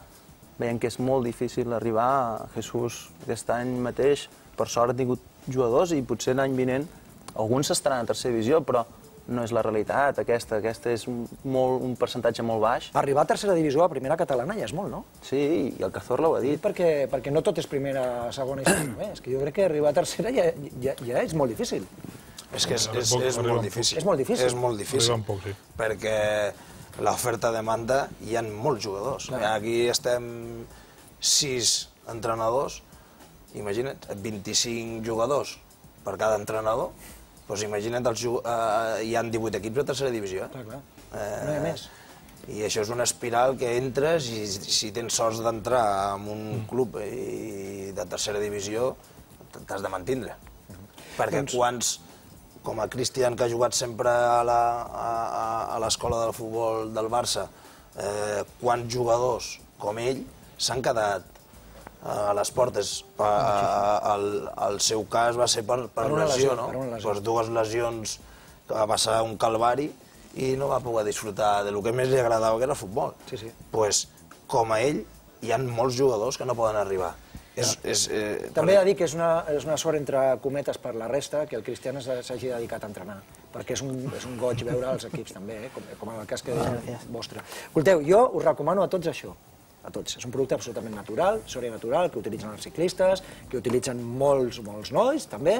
veiem que és molt difícil arribar a Jesús aquest any mateix. Per sort ha tingut jugadors i potser l'any vinent alguns estaran a tercera divisió, però no és la realitat aquesta. Aquesta és un, molt, un percentatge molt baix. Arribar a tercera divisió, a primera catalana, ja és molt, no? Sí, i el Cazorla ho ha dit. Perquè, perquè no tot és primera, segona i segona més. Que jo crec que arribar a tercera ja, ja, ja és molt difícil. És que és, és, és molt difícil. És molt difícil. És molt difícil. Poc, sí. Perquè l'oferta-demanda hi ha molts jugadors. Clar. Aquí estem sis entrenadors, imagina't, vint-i-cinc jugadors per cada entrenador, doncs imagina't, els, eh, hi ha divuit equips de tercera divisió. Clar, clar. Eh, no hi ha més. I això és una espiral que entres i si tens sort d'entrar en un club de tercera divisió, t'has de mantindre. Perquè quants, com a Cristian, que ha jugat sempre a l'escola del futbol del Barça, quants jugadors com ell s'han quedat a les portes. El seu cas va ser per lesió, no? Per dues lesions que va passar un calvari i no va poder disfrutar del que més li agradava, que era el futbol. Doncs, com a ell, hi ha molts jugadors que no poden arribar. També he de dir que és una sort, entre cometes, per la resta, que el Cristian s'hagi dedicat a entrenar, perquè és un goig veure els equips també, com en el cas que vostre. Escolteu, jo us recomano a tots això, a tots. És un producte absolutament natural, sòria natural, que utilitzen els ciclistes, que utilitzen molts, molts nois, també.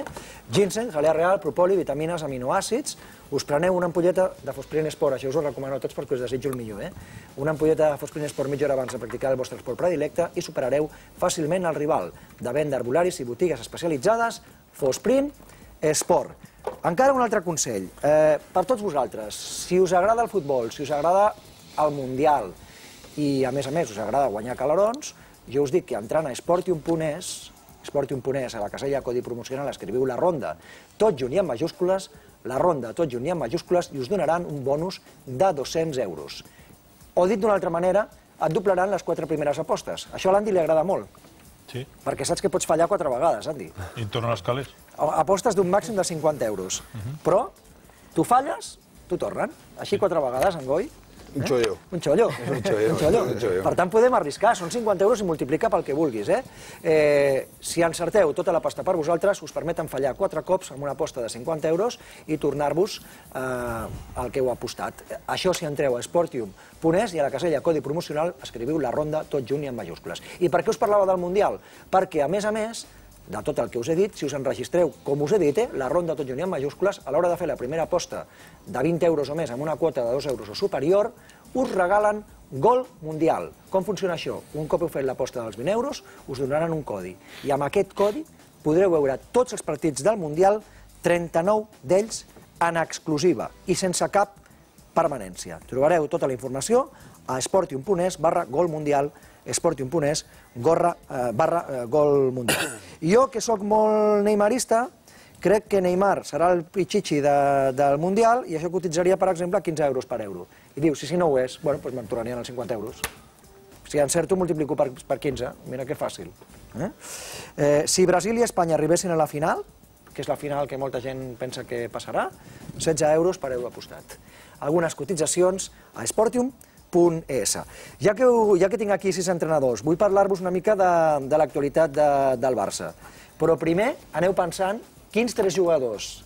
Ginseng, jalea real, propoli, vitamines, aminoàcids. Us preneu una ampolleta de Fosprine Sport, això us ho recomano a tots perquè us desitjo el millor, eh? Una ampolleta de Fosprine Sport mitja hora abans de practicar el vostre esport predilecte i superareu fàcilment el rival. De venda arbolaris i botigues especialitzades, Fosprine Sport. Encara un altre consell, per tots vosaltres, si us agrada el futbol, si us agrada el Mundial, i a més a més us agrada guanyar calarons, jo us dic que entrant a esportium punt es, esportium punt es, a la casella codi promocional, escriviu la ronda, tot junt i en majúscules, la ronda tot junt i en majúscules, i us donaran un bonus de dos-cents euros. O dit d'una altra manera, et doblaran les quatre primeres apostes. Això a l'Andy li agrada molt. Sí. Perquè saps que pots fallar quatre vegades, Andy. I tornen els calés. Apostes d'un màxim de cinquanta euros. Però tu falles, t'ho tornen. Així quatre vegades, en Goi. Un xollo. Un xollo. Un xollo. Per tant, podem arriscar. Són cinquanta euros i multiplica pel que vulguis. Si encerteu tota la pasta per vosaltres, us permeten fallar quatre cops amb una aposta de cinquanta euros i tornar-vos el que heu apostat. Això si entreu a esportium punt es i a la casella codi promocional escriviu la ronda tot junt i en majúscules. I per què us parlava del Mundial? Perquè, a més a més, de tot el que us he dit, si us enregistreu, com us he dit, la ronda tot junt i en majúscules, a l'hora de fer la primera aposta de vint euros o més amb una quota de dos euros o superior, us regalen Gol Mundial. Com funciona això? Un cop heu fet l'aposta dels vint euros, us donaran un codi. I amb aquest codi podreu veure tots els partits del Mundial, trenta-nou d'ells en exclusiva i sense cap permanència. Trobareu tota la informació a esportium punt es barra Gol Mundial, esportium punt es barra Gol Mundial. Jo, que sóc molt neymarista, crec que Neymar serà el pichichi del Mundial i això cotitzaria, per exemple, quinze euros per euro. I dius, si no ho és, doncs me'n tornarien els cinquanta euros. Si encerto, multiplico per quinze. Mira que fàcil. Si Brasil i Espanya arribessin a la final, que és la final que molta gent pensa que passarà, setze euros per euro apostat. Algunes cotitzacions a esportium punt es. Ja que tinc aquí sis entrenadors, vull parlar-vos una mica de l'actualitat del Barça. Però primer aneu pensant quins tres jugadors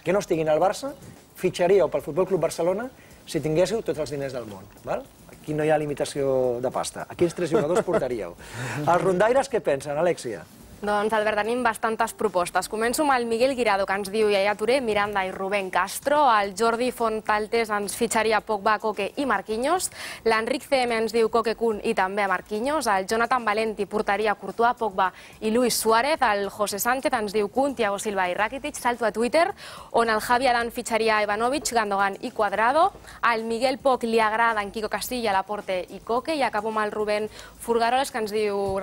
que no estiguin al Barça fitxaríeu pel Futbol Club Barcelona si tinguéssiu tots els diners del món. Aquí no hi ha limitació de pasta. A quins tres jugadors portaríeu? Els rondaires què pensen, Alexia? Doncs, Albert, tenim bastantes propostes. Començo amb el Miguel Guirado, que ens diu Yaya Touré, Miranda i Rubén Castro. El Jordi Fontaltes ens fitxaria Pogba, Koke i Marquinhos. L'Enric C M ens diu Koke Kun i també Marquinhos. El Jonathan Valenti portaria Courtois, Pogba i Luis Suárez. El José Sánchez ens diu Kun, Thiago Silva i Rakitic. Salto a Twitter, on el Javi Adán fitxaria Ivanovic, Gandogan i Cuadrado. Al Miguel Poch li agrada en Quico Castilla, Laporte i Koke. I acabo amb el Rubén Furgaroles, que ens diu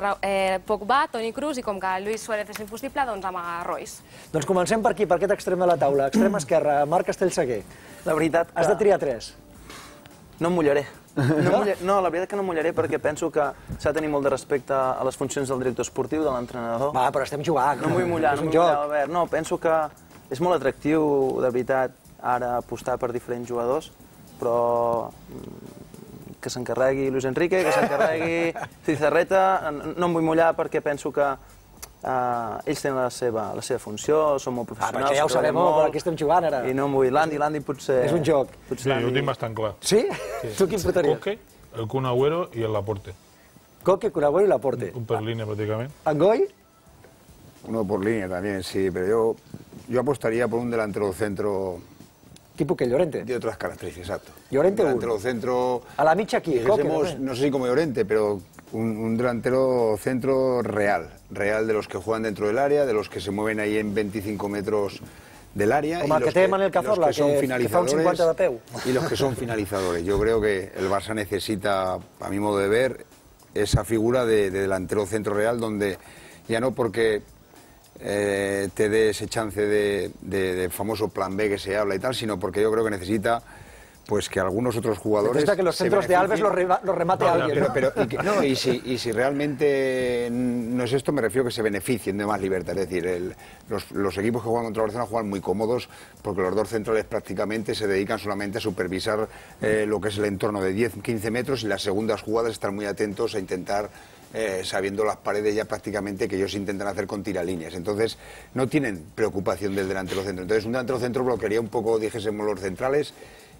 Pogba, Toni Kroos i com que Luis Suárez és impossible, doncs amb Royce. Doncs comencem per aquí, per aquest extrem de la taula. Extrem esquerra, Marc Castellseguer. La veritat... Has de triar tres. No em mullaré. No, la veritat que no em mullaré perquè penso que s'ha de tenir molt de respecte a les funcions del director esportiu, de l'entrenador. Va, però estem jugant. No em vull mullar, no em vull mullar, Albert. No, penso que és molt atractiu, de veritat, ara apostar per diferents jugadors, però que s'encarregui Luis Enrique, que s'encarregui Cizarreta. No em vull mullar perquè penso que ells tenen la seva funció, són molt professionals. Ah, però ja ho sabem, però aquí estem jugant ara. I no em vull... L'Andy, l'Andy potser... És un joc. Sí, jo ho tinc bastant clar. Sí? Tu quin portaries? Koke, el Kun Agüero i el Laporte. Koke, Kun Agüero y Laporte. Un per línea prácticamente. ¿Angoy? Uno por línea también, sí, pero yo, yo apostaría por un delantero centro... ¿Tipo qué? ¿Llorente? De otras características, exacto. ¿Llorente un delantero centro... A la micha aquí, Koke, ¿no? No sé si como Llorente, pero un, un delantero centro real. Real de los que juegan dentro del área, de los que se mueven ahí en veinticinco metros del área. Com el que té Manel Cazorla, que fa un cinquanta de peu. Y los que son finalizadores. Yo creo que el Barça necesita, a mi modo de ver, esa figura de, de delantero centro real, donde ya no porque eh, te dé ese chance de, de, de famoso plan B que se habla y tal, sino porque yo creo que necesita pues que algunos otros jugadores... Necesita que los centros de Alves los, re, los remate no, alguien. Pero, pero, y, que, no, y, si, y si realmente no es esto, me refiero que se beneficien de más libertad. Es decir, el, los, los equipos que juegan contra Barcelona juegan muy cómodos porque los dos centrales prácticamente se dedican solamente a supervisar eh, lo que es el entorno de diez a quince metros y las segundas jugadas están muy atentos a intentar... Eh, sabiendo las paredes ya prácticamente que ellos intentan hacer con tiralíneas. Entonces, no tienen preocupación del delantero centro. Entonces, un delantero centro bloquearía un poco, dijésemos, los centrales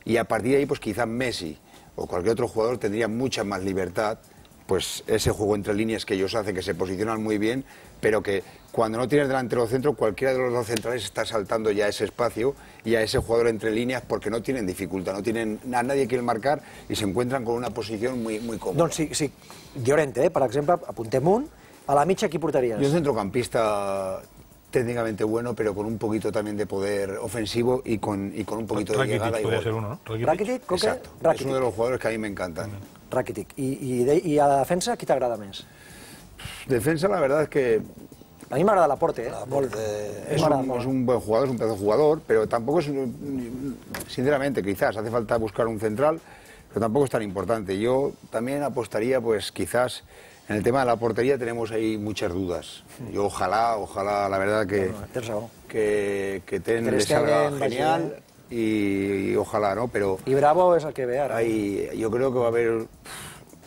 y a partir de ahí, pues quizás Messi o cualquier otro jugador tendría mucha más libertad, pues ese juego entre líneas que ellos hacen, que se posicionan muy bien, pero que cuando no tienes delantero centro, cualquiera de los dos centrales está saltando ya ese espacio y a ese jugador entre líneas porque no tienen dificultad, no tienen a nadie que marcar y se encuentran con una posición muy, muy cómoda. Doncs sí, sí. Llorente, eh, per exemple, apuntem un, a la mitja qui portaries? Yo un centrocampista técnicamente bueno, pero con un poquito también de poder ofensivo y con, y con un poquito de llegada. Rakitic podría ser uno, ¿no? Rakitic, Rakitic Coque? Exacto. Rakitic. Es uno de los jugadores que a mí me encantan. Rakitic. I, i, de, I a la defensa, qui t'agrada més? Defensa, la verdad es que... A mí m'agrada Laporte, ¿eh? Laporte es, un, es un buen jugador, es un pedazo de jugador, pero tampoco es, sinceramente, quizás hace falta buscar un central, pero tampoco es tan importante. Yo también apostaría, pues quizás, en el tema de la portería tenemos ahí muchas dudas. Yo ojalá, ojalá, la verdad que que, que Ten le salga genial y, y ojalá, ¿no? Pero y Bravo es el que ve ara. Hay, yo creo que va a haber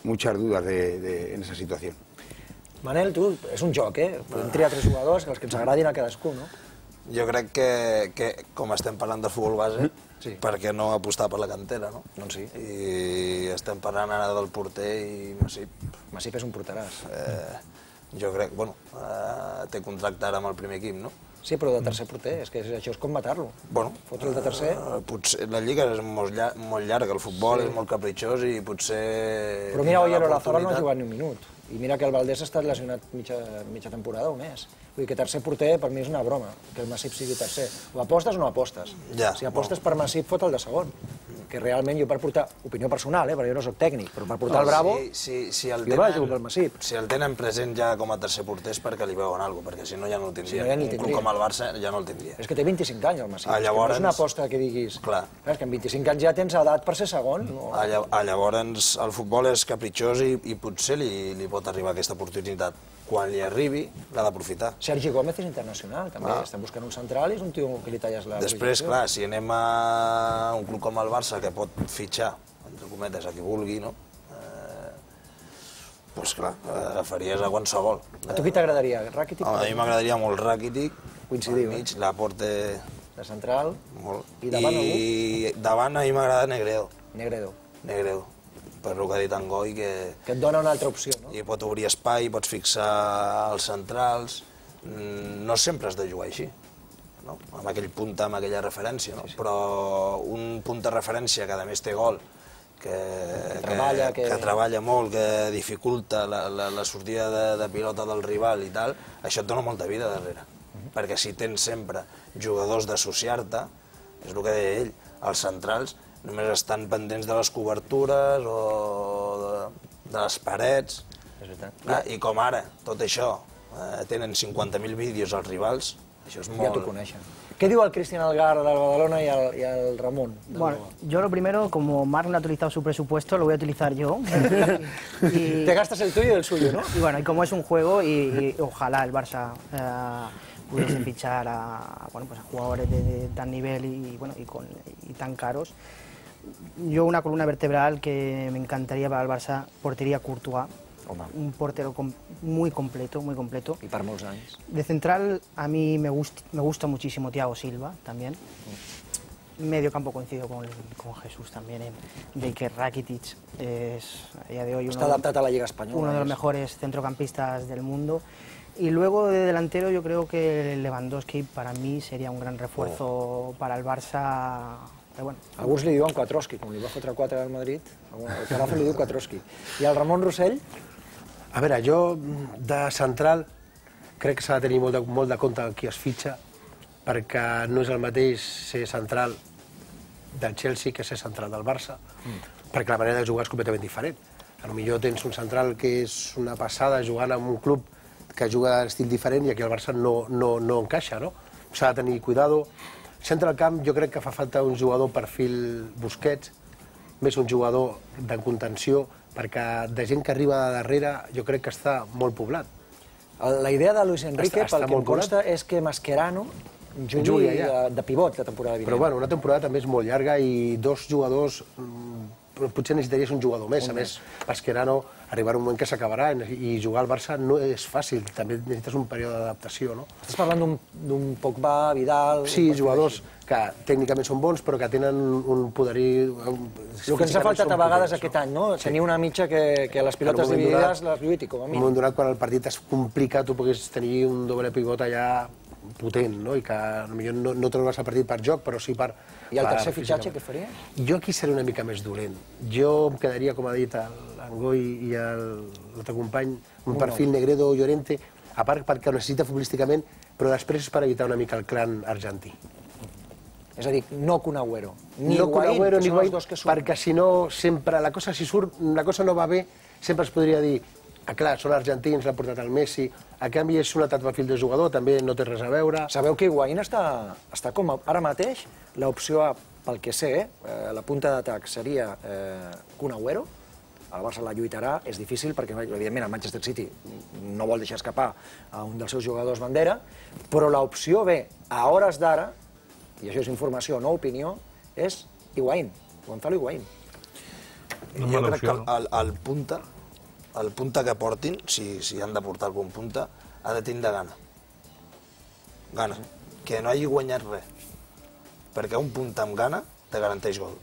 muchas dudas de, de, en esa situación. Manel, tu, és un joc, eh? Podem triar tres jugadors, els que ens agradin a cadascú, no? Jo crec que, que com estem parlant del futbol base, sí. Per què no apostar per la cantera, no? Doncs sí. I estem parlant ara del porter i Masip. Masip és un porteràs. Eh, jo crec, bueno, eh, té contracte ara amb el primer equip, no? Sí, però de tercer porter, és que això és com matar-lo. Bueno, fotre'l de tercer... Eh, potser, la lliga és molt, llar molt llarga, el futbol sí. És molt capritxós i potser... Però mira, Oyer Olazábal no ha jugat ni un minut. I mira que el Valdés ha estat lesionat mitja, mitja temporada o més. Vull dir que tercer porter per mi és una broma, que el Masip sigui tercer. O apostes o no apostes. Ja, si apostes bueno. per Masip, fot el de segon. Que realment jo per portar, opinió personal, eh, perquè jo no soc tècnic, però per portar no, el Bravo, si, si, si el jo tenen, vaig jugar pel Masip. Si el tenen present ja com a tercer porter és perquè li veuen alguna cosa, perquè si no ja no el tindria. Si no, ja un club com el Barça ja no el tindria. És que té vint-i-cinc anys el Masip, ah, llavors... no és una aposta que diguis... Clar. Clar, és que amb vint-i-cinc anys ja tens edat per ser segon. No? Ah, llavors el futbol és capritxós i, i potser li, li pot arribar aquesta oportunitat. Quan li arribi, l'ha d'aprofitar. Sergi Gómez és internacional, també. Ah. Estem buscant un central i és un tio que li talles la... Després, clar, si anem a un club com el Barça, que pot fitxar, entre cometes, a qui vulgui, no? Eh, doncs clar, agafaries a qualsevol. A tu qui t'agradaria? Rakitic? A mi m'agradaria molt Rakitic. Coincidiu, mig, eh? Laporte... De central. Molt. I davant algú? I davant a mi m'agrada Negredo. Negredo. Negredo. Per el que ha dit en Goi, que... Que et dona una altra opció, no? I pot obrir espai, pots fixar els centrals... No sempre has de jugar així, no? Amb aquell punta, amb aquella referència, no? Sí, sí. Però un punt de referència que a més té gol, que, que, treballa, que... que treballa molt, que dificulta la, la, la sortida de, de pilota del rival i tal, això et dona molta vida darrere. Uh-huh. Perquè si tens sempre jugadors d'associar-te, és el que deia ell, els centrals només estan pendents de les cobertures o de, de les parets. És veritat. Ah, I com ara, tot això, eh, tenen cinquanta mil vídeos als rivals, això és molt... Ja t'ho coneixen. ¿Qué digo al Cristian Algar del Badalona y al, y al Ramón? Bueno, yo lo primero, como Marc no ha utilizado su presupuesto, lo voy a utilizar yo. y... Te gastas el tuyo y el suyo, ¿no? Y bueno, y como es un juego, y, y ojalá el Barça eh, pudiese fichar a, bueno, pues a jugadores de, de tan nivel y, bueno, y, con, y tan caros. Yo una columna vertebral que me encantaría para el Barça, portería Courtois. Home. Un portero com muy completo, muy completo. Y para molts anys. De central, a mí me, gust, me gusta muchísimo Thiago Silva, también. Mm. Medio campo coincido con, con Jesús también, en de que Rakitic es a día de hoy uno, adaptado a la Liga Española, uno de los mejores centrocampistas del mundo. Y luego de delantero yo creo que Lewandowski para mí sería un gran refuerzo oh. para el Barça. Però bueno. Alguns li diuen Quattroski, com li va fotre quatre al Madrid, el Carazo li diu Quattroski. I el Ramon Rossell? A veure, jo de central crec que s'ha de tenir molt de, molt de compte qui es fitxa, perquè no és el mateix ser central del Chelsea que ser central del Barça, perquè la manera de jugar és completament diferent. Potser tens un central que és una passada jugant en un club que juga d'estil diferent i aquí el Barça no, no, no encaixa, no? S'ha de tenir cuidado. Centre del camp jo crec que fa falta un jugador perfil Busquets, més un jugador de contenció, perquè de gent que arriba de darrere jo crec que està molt poblat. La idea de Luis Enrique, pel que em consta, és que Mascherano jugui de pivot la temporada vinent. Però bueno, una temporada també és molt llarga i dos jugadors, potser necessitaries un jugador més. A més, Mascherano arribarà un moment que s'acabarà i jugar al Barça no és fàcil, també necessites un període d'adaptació, no? Estàs parlant d'un Pogba, Vidal... Sí, jugadors que tècnicament són bons però que tenen un poderí... El que ens ha faltat a vegades aquest any, no? Tenir una mitja que les pilotes dividides les lluiti, com a mínim. En un moment donat, quan el partit es complica, tu puguis tenir un doble pivot allà potent, no? I que potser no trobaràs el partit per joc, però sí per... I el tercer fitxatge què faria? Jo aquí seré una mica més dolent. Jo em quedaria, com ha dit l'Angoi i l'altre company, un perfil Negredo o Llorente, a part perquè ho necessita futbolísticament, però després és per evitar una mica el clan argentí. És a dir, no Kun Agüero, ni no Higuaín, Agüero, que ni són els dos que surten. Perquè si no, sempre, la cosa si surt, la cosa no va bé, sempre es podria dir, ah, clar, són argentins, l'ha portat el Messi, a canvi és un altre perfil de jugador, també no té res a veure. Sabeu que Higuaín està, està com ara mateix, l'opció A, pel que sé, eh, la punta d'atac seria eh, Kun Agüero, el Barça la lluitarà, és difícil perquè, evidentment, el Manchester City no vol deixar escapar a un dels seus jugadors bandera, però l'opció B, a hores d'ara, i això és informació, no opinió, és Higuaín, Gonzalo Higuaín. Jo crec que el, el punta, el punta que portin, si, si han de portar algun punta, ha de tindre gana. Gana. Que no hagi guanyat res. Perquè un punta amb gana te garanteix gol.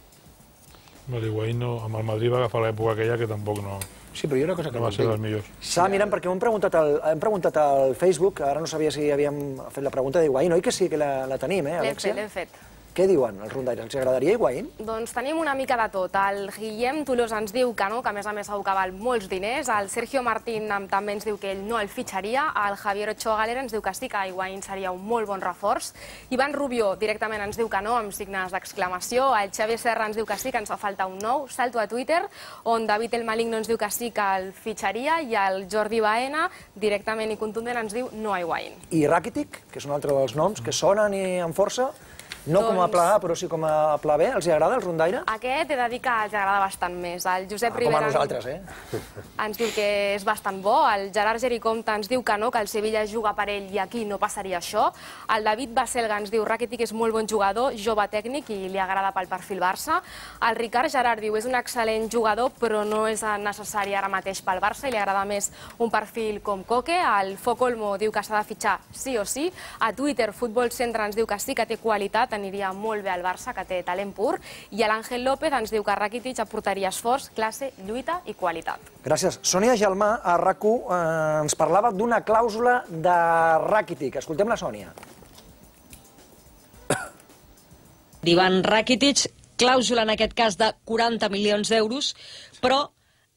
Higuaín no, amb el Madrid va agafar l'època aquella que tampoc no... Sí, però hi ha una cosa que no va ser dels millors. Estava mirant perquè m'hem preguntat, al, hem preguntat al Facebook, ara no sabia si havíem fet la pregunta d'Higuaín, oi que sí que la, la tenim, eh, Alexia? L'hem fet, l'hem fet. Què diuen els rondaires? Els agradaria Higuaín? Doncs tenim una mica de tot. El Guillem Tolosa ens diu que no, que a més a més segur que val molts diners. El Sergio Martín també ens diu que ell no el fitxaria. El Javier Ochoa Galera ens diu que sí, que Higuaín seria un molt bon reforç. Ivan Rubió directament ens diu que no, amb signes d'exclamació. El Xavier Serra ens diu que sí, que ens fa falta un nou. Salto a Twitter, on David El Maligno ens diu que sí, que el fitxaria, i el Jordi Baena, directament i contundent, ens diu no a Higuaín. I Rakitic, que és un altre dels noms que sonen i amb força, no com a pla A, però sí com a pla B. Els agrada el rondaire? Aquest he de dir que els agrada bastant més. El Josep Ah, Rivera com a nosaltres, eh? ens diu que és bastant bo. El Gerard Gericomte ens diu que no, que el Sevilla juga per ell i aquí no passaria això. El David Baselga ens diu Rakitic és molt bon jugador, jove tècnic i li agrada pel perfil Barça. El Ricard Gerard diu és un excel·lent jugador, però no és necessari ara mateix pel Barça i li agrada més un perfil com Koke. El Focolmo diu que s'ha de fitxar sí o sí. A Twitter, Futbol Centre ens diu que sí que té qualitat, aniria molt bé al Barça, que té talent pur, i l'Àngel López ens diu que Rakitic aportaria esforç, classe, lluita i qualitat. Gràcies. Sònia Gelmà, a RAC u, eh, ens parlava d'una clàusula de Rakitic. Escoltem la Sònia. D'Ivan Rakitic, clàusula en aquest cas de quaranta milions d'euros, però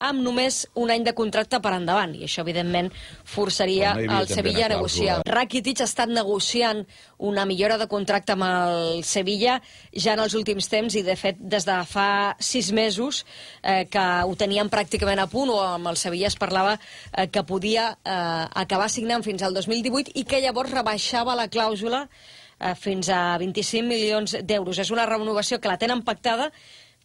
amb només un any de contracte per endavant, i això, evidentment, forçaria el Sevilla a negociar. Rakitic ha estat negociant una millora de contracte amb el Sevilla ja en els últims temps, i, de fet, des de fa sis mesos eh, que ho tenien pràcticament a punt, o amb el Sevilla es parlava eh, que podia eh, acabar signant fins al dos mil divuit i que llavors rebaixava la clàusula eh, fins a vint-i-cinc milions d'euros. És una renovació que la tenen pactada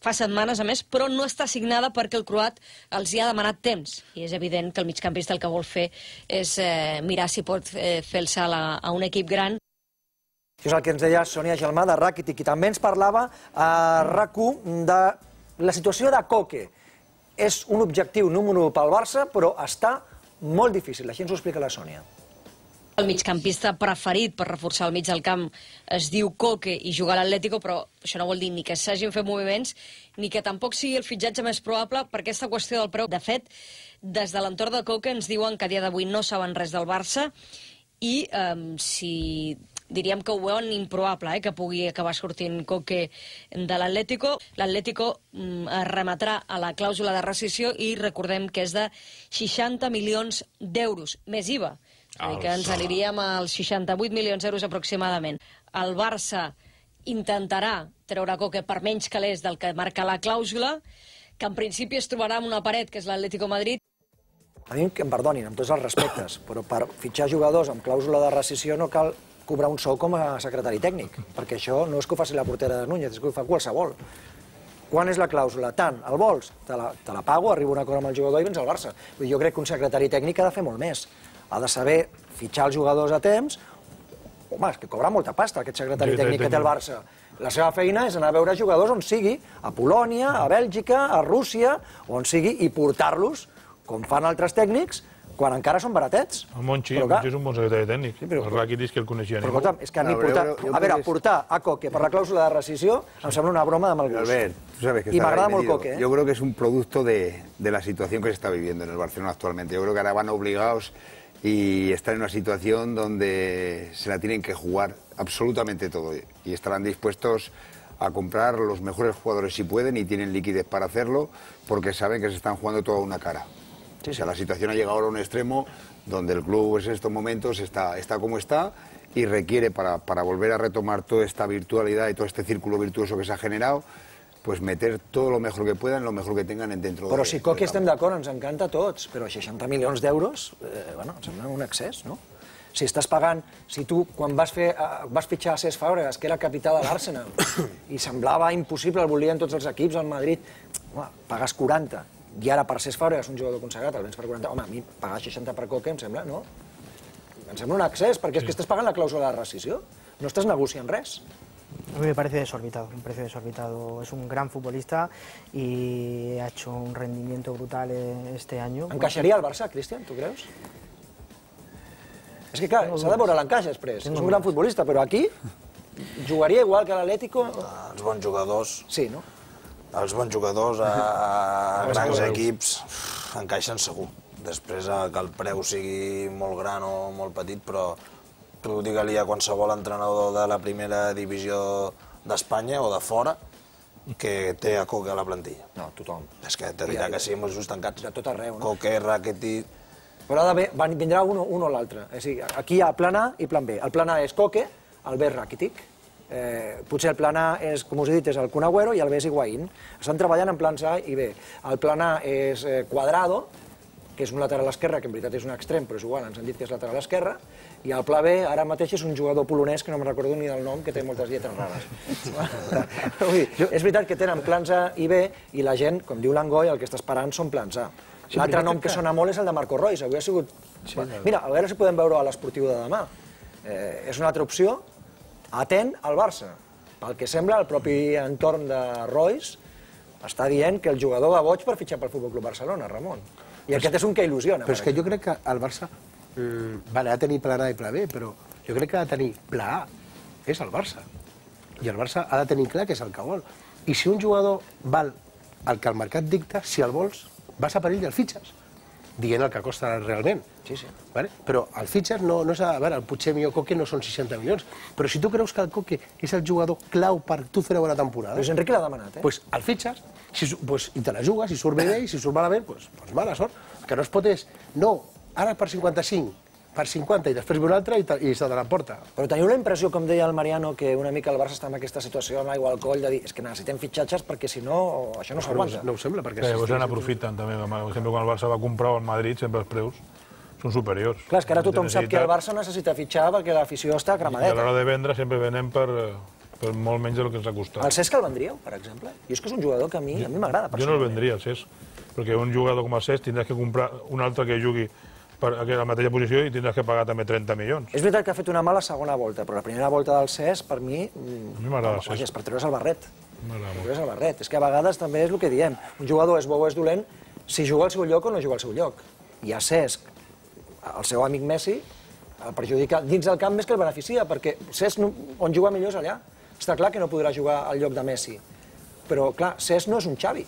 fa setmanes, a més, però no està signada perquè el croat els hi ha demanat temps. I és evident que el migcampista el que vol fer és eh, mirar si pot eh, fer el salt a, a un equip gran. Això és el que ens deia Sònia Gelmà de Rakitic, i també ens parlava a RAC u de la situació de Koke. És un objectiu número pel Barça, però està molt difícil. Així ens ho explica la Sònia. El migcampista preferit per reforçar el mig del camp es diu Koke i jugar a l'Atlético, però això no vol dir ni que s'hagin fet moviments ni que tampoc sigui el fitxatge més probable per aquesta qüestió del preu. De fet, des de l'entorn de Koke ens diuen que a dia d'avui no saben res del Barça i eh, si diríem que ho veuen improbable, eh, que pugui acabar sortint Koke de l'Atlético. L'Atlético mm, es remetrà a la clàusula de rescissió i recordem que és de seixanta milions d'euros, més I V A. És a dir, que ens aniríem als seixanta-vuit milions d'euros aproximadament. el Barça intentarà treure Coque per menys calés del que marca la clàusula, que en principi es trobarà amb una paret, que és l'Atlético Madrid. A mi que em perdonin, amb tots els respectes, però per fitxar jugadors amb clàusula de rescisió no cal cobrar un sou com a secretari tècnic, perquè això no és que ho faci la portera de Núñez, és que ho fa qualsevol. Quan és la clàusula? Tant, el vols? Te la, te la pago, arribo a un acord amb el jugador i vens al Barça. Jo crec que un secretari tècnic ha de fer molt més. Ha de saber fitxar els jugadors a temps. Home, és que cobra molta pasta aquest secretari tècnic que té el Barça. La seva feina és anar a veure jugadors on sigui, a Polònia, a Bèlgica, a Rússia, on sigui, i portar-los, com fan altres tècnics, quan encara són baratets. El Monchi, el Monchi és un bon secretari tècnic. El Rakitic, que el coneixia ningú. Però escolta'm, és que ni portar... A veure, portar a Coque per la clàusula de rescisió em sembla una broma de mal gust. Albert, tú sabes que y m'agrada molt Coque, ¿eh? Yo creo que es un producto de, de la situación que se está viviendo en el Barcelona actualmente. Yo creo que ahora van obligados y están en una situación donde se la tienen que jugar absolutamente todo y estarán dispuestos a comprar los mejores jugadores si pueden y tienen liquidez para hacerlo porque saben que se están jugando toda una cara. Sí, o sea, la situación ha llegado ahora a un extremo donde el club en estos momentos está, está como está y requiere para, para volver a retomar toda esta virtualidad y todo este círculo virtuoso que se ha generado, pues meter todo lo mejor que puedan, lo mejor que tengan dentro de... Però si Coque estem d'acord, ens encanta a tots, però seixanta milions d'euros, eh, bueno, em sembla un excés, no? Si estàs pagant, si tu, quan vas, fer, vas fitxar a Cesc Fàbregas, que era capità de l'Arsenal, i semblava impossible, el volien tots els equips al Madrid, home, pagues quaranta, i ara per Cesc Fàbregas, un jugador consagrat, el vens per quaranta, home, a mi pagar seixanta per Coque em sembla, no? Em sembla un excés, perquè és que estàs pagant la clàusula de rescisió, no estàs negociant res. A mí me parece desorbitado, me parece desorbitado. Es un gran futbolista y ha hecho un rendimiento brutal este año. ¿Encaixaria al Barça, Cristian, tu creus? És que, clar, s'ha de veure l'encaix després. És un gran futbolista, però aquí jugaria igual que l'Atlético... Els bons jugadors... Sí, no? Els bons jugadors a grans equips encaixen segur. Després que el preu sigui molt gran o molt petit, però tu digue-li a qualsevol entrenador de la primera divisió d'Espanya o de fora que té a Coque a la plantilla. No, tothom. És que te dirà que sí, amb els ulls tancats. De tot arreu, no? Coque, Rakitic... Però ha d'haver, vindrà un o l'altre. És a dir, aquí hi ha plan A i plan B. El plan A és Coque, el B és Rakitic. Eh, potser el plan A és, com us he dit, és el Kun Agüero i el B és Higuaín. Estan treballant en plans A i B. El plan A és eh, Cuadrado, que és un lateral esquerre, que en veritat és un extrem, però és igual, ens han dit que és lateral esquerre, i el pla B ara mateix és un jugador polonès, que no me'n recordo ni del nom, que té moltes lletres rares. Ui, és veritat que tenen plans A i B, i la gent, com diu l'Angoi, el que està esperant són plans A. L'altre nom que sona molt és el de Marco Reus, avui ha sigut... Mira, a veure si podem veure a l'esportiu de demà. És una altra opció, atent al Barça. Pel que sembla, el propi entorn de Reus està dient que el jugador va boig per fitxar pel Futbol Club Barcelona, Ramon. I aquest és un que il·lusiona. Però és que jo crec que el Barça ha de tenir pla A i pla B, però jo crec que ha de tenir pla A. És el Barça. I el Barça ha de tenir clar que és el que vol. I si un jugador val el que el mercat dicta, si el vols, vas a perill i el fitxes, dient el que costa realment. Sí, sí. Però el fitxes no és... A veure, potser millor Coque no són seixanta milions, però si tu creus que el Coque és el jugador clau per tu fer una bona temporada... Luis Enrique l'ha demanat, eh? Doncs el fitxes i te la jugues, si surt bé i si surt malament, doncs mala sort. El que no es pot és, no, ara per cinquanta-cinc, per cinquanta i després ve un altre i se te la porta. Però teniu la impressió, com deia el Mariano, que una mica el Barça està en aquesta situació amb l'aigua al coll, de dir, és que necessitem fitxatges perquè si no, això no s'aguanta. No ho sembla, perquè... Sí, se n'aprofiten també. Per exemple, quan el Barça va comprar el Madrid, sempre els preus són superiors. Clar, és que ara tothom sap que el Barça necessita fitxar perquè l'afició està cremadeta. I a l'hora de vendre sempre venem per molt menys del que ens ha costat. El Cesc el vendríeu, per exemple? Jo és que és un jugador que a mi m'agrada. Jo no el vendria, el Cesc, perquè un jugador com el Cesc tindràs que comprar un altre que jugui per a la mateixa posició i tindràs que pagar també trenta milions. És veritat que ha fet una mala segona volta, però la primera volta del Cesc, per mi... A mi m'agrada el Cesc. És per treure's el barret. Treure's el barret. És que a vegades també és el que diem. Un jugador és bo o és dolent si juga al seu lloc o no juga al seu lloc. I a Cesc, el seu amic Messi, el perjudica dins del camp més que el beneficia, perquè Cesc on juga millor és allà. Està clar que no podrà jugar al lloc de Messi. Però, clar, Cesc no és un Xavi.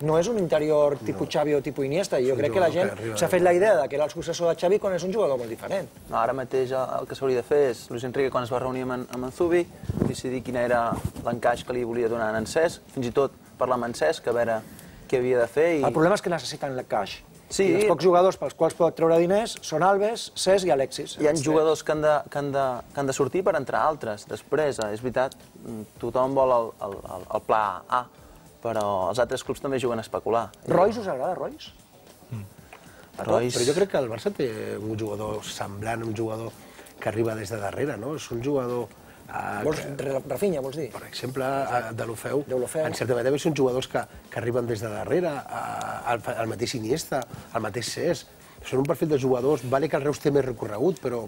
No és un interior tipus Xavi o tipus Iniesta. Jo crec que la gent s'ha fet la idea que era el successor de Xavi quan és un jugador molt diferent. Ara mateix el que s'hauria de fer és, Luis Enrique, quan es va reunir amb en Zubi, decidir quin era l'encaix que li volia donar a en Cesc, fins i tot parlar amb en Cesc, a veure què havia de fer. El problema és que necessiten l'encaix. Sí. I els pocs jugadors pels quals pot treure diners són Alves, Cesc i Alexis. Hi ha jugadors que han, de, que, han de, que han de sortir per entrar altres. Després, és veritat, tothom vol el, el, el pla A, però els altres clubs també juguen a especular. Royce us agrada, Royce? Mm. Royce... Però jo crec que el Barça té un jugador semblant, un jugador que arriba des de darrere, no? És un jugador... Uh, vols, que, Rafinha, vols dir? Per exemple, uh, de l'Ofeu, en certa manera són jugadors que, que arriben des de darrere, uh, el, el mateix Iniesta, el mateix Cesc. Són un perfil de jugadors, vale que el Reus té més recorregut, però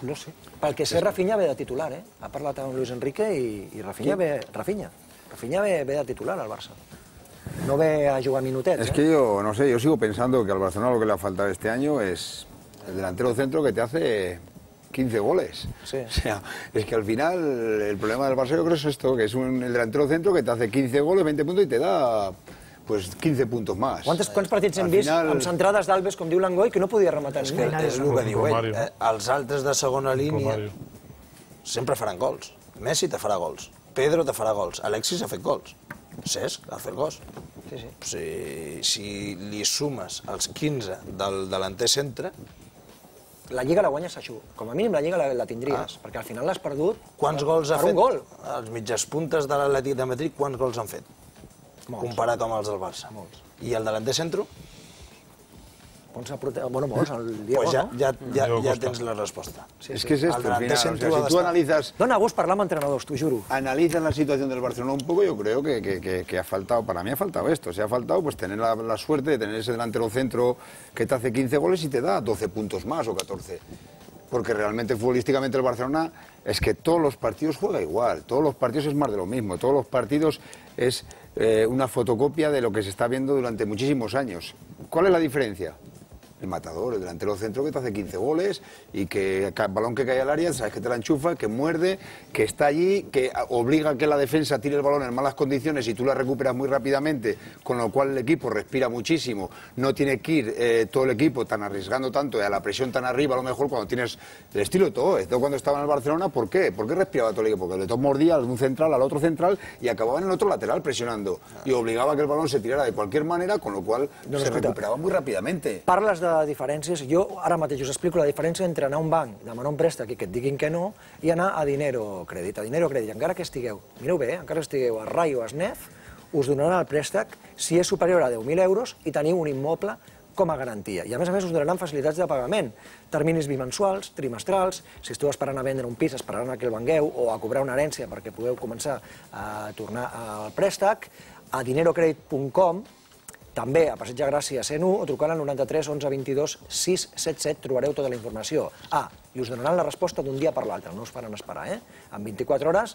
no sé. Pel que sé, Rafinha ve de titular, eh? Ha parlat amb Luis Enrique i, i Rafinha, ve, Rafinha. Rafinha ve, ve de titular al Barça. No ve a jugar minutets, Es ¿eh? que yo, no sé, yo sigo pensando que al Barcelona lo que le ha faltado este año es el delantero centro que te hace quince goles. Sí. O sea, es que al final el problema del Barça yo creo es esto, que es un, el delantero centro que te hace quince goles, veinte puntos y te da pues quince puntos más. Quants, quants partits hem Al vist final... amb centrades d'Alves, com diu l'Angoi, que no podia rematar És ningú? que és el que diu ell. Eh? Els altres de segona línia sempre faran gols. Messi te farà gols. Pedro te farà gols. Alexis ha fet gols. Cesc ha fet gols. Sí, sí. Si, si li sumes els quinze del delanter centre... La Lliga la guanyes a Xu. Com a mínim la Lliga la, la tindries, ah. perquè al final l'has perdut Quants gols ha per fet? un gol. Els mitges puntes de l'Atlètic de Madrid, quants gols han fet? Molts. Comparat amb els del Barça. Molts. I el delanter centro? Molts, bueno, molts, el Diego, pues ja, no? ja, ja, ja tens la respuesta. Sí, es que es esto, al final, o sea, si tú analizas... Dona gust parlar amb entrenadors, t'ho juro. Analizas la situación del Barcelona un poco, yo creo que, que, que, que ha faltado, para mí ha faltado esto, se ha faltado pues tener la, la suerte de tener ese delantero centro que te hace quince goles y te da doce puntos más o catorce. Porque realmente futbolísticamente el Barcelona es que todos los partidos juega igual, todos los partidos es más de lo mismo, todos los partidos es eh, una fotocopia de lo que se está viendo durante muchísimos años. ¿Cuál es la diferencia? El matador, el delantero centro que te hace quince goles y que el balón que cae al área, sabes que te la enchufa, que muerde, que está allí, que obliga a que la defensa tire el balón en malas condiciones y tú la recuperas muy rápidamente, con lo cual el equipo respira muchísimo, no tiene que ir eh, todo el equipo tan arriesgando tanto y a la presión tan arriba, a lo mejor cuando tienes el estilo de todo. Esto cuando estaba en el Barcelona, ¿por qué? ¿Por qué respiraba todo el equipo? Porque le todo mordía a un central, al otro central y acababa en el otro lateral presionando y obligaba a que el balón se tirara de cualquier manera, con lo cual no se recuperaba muy rápidamente. Parles de diferències, jo ara mateix us explico la diferència entre anar a un banc, demanar un préstec i que et diguin que no, i anar a dinero crèdit. A dinero crèdit, encara que estigueu, mireu bé, encara que estigueu a Rai o a Snef, us donaran el préstec si és superior a deu mil euros i teniu un immoble com a garantia. I a més a més us donaran facilitats de pagament, terminis bimensuals, trimestrals, si esteu esperant a vendre un pis, esperaran a que el vengueu o a cobrar una herència perquè podeu començar a tornar al préstec, a dinero credit punt com, també a Passeig de Gràcia cent u o trucant al noranta-tres onze vint-i-dos sis set set trobareu tota la informació. Ah, i us donaran la resposta d'un dia per l'altre, no us faran esperar, eh? En vint-i-quatre hores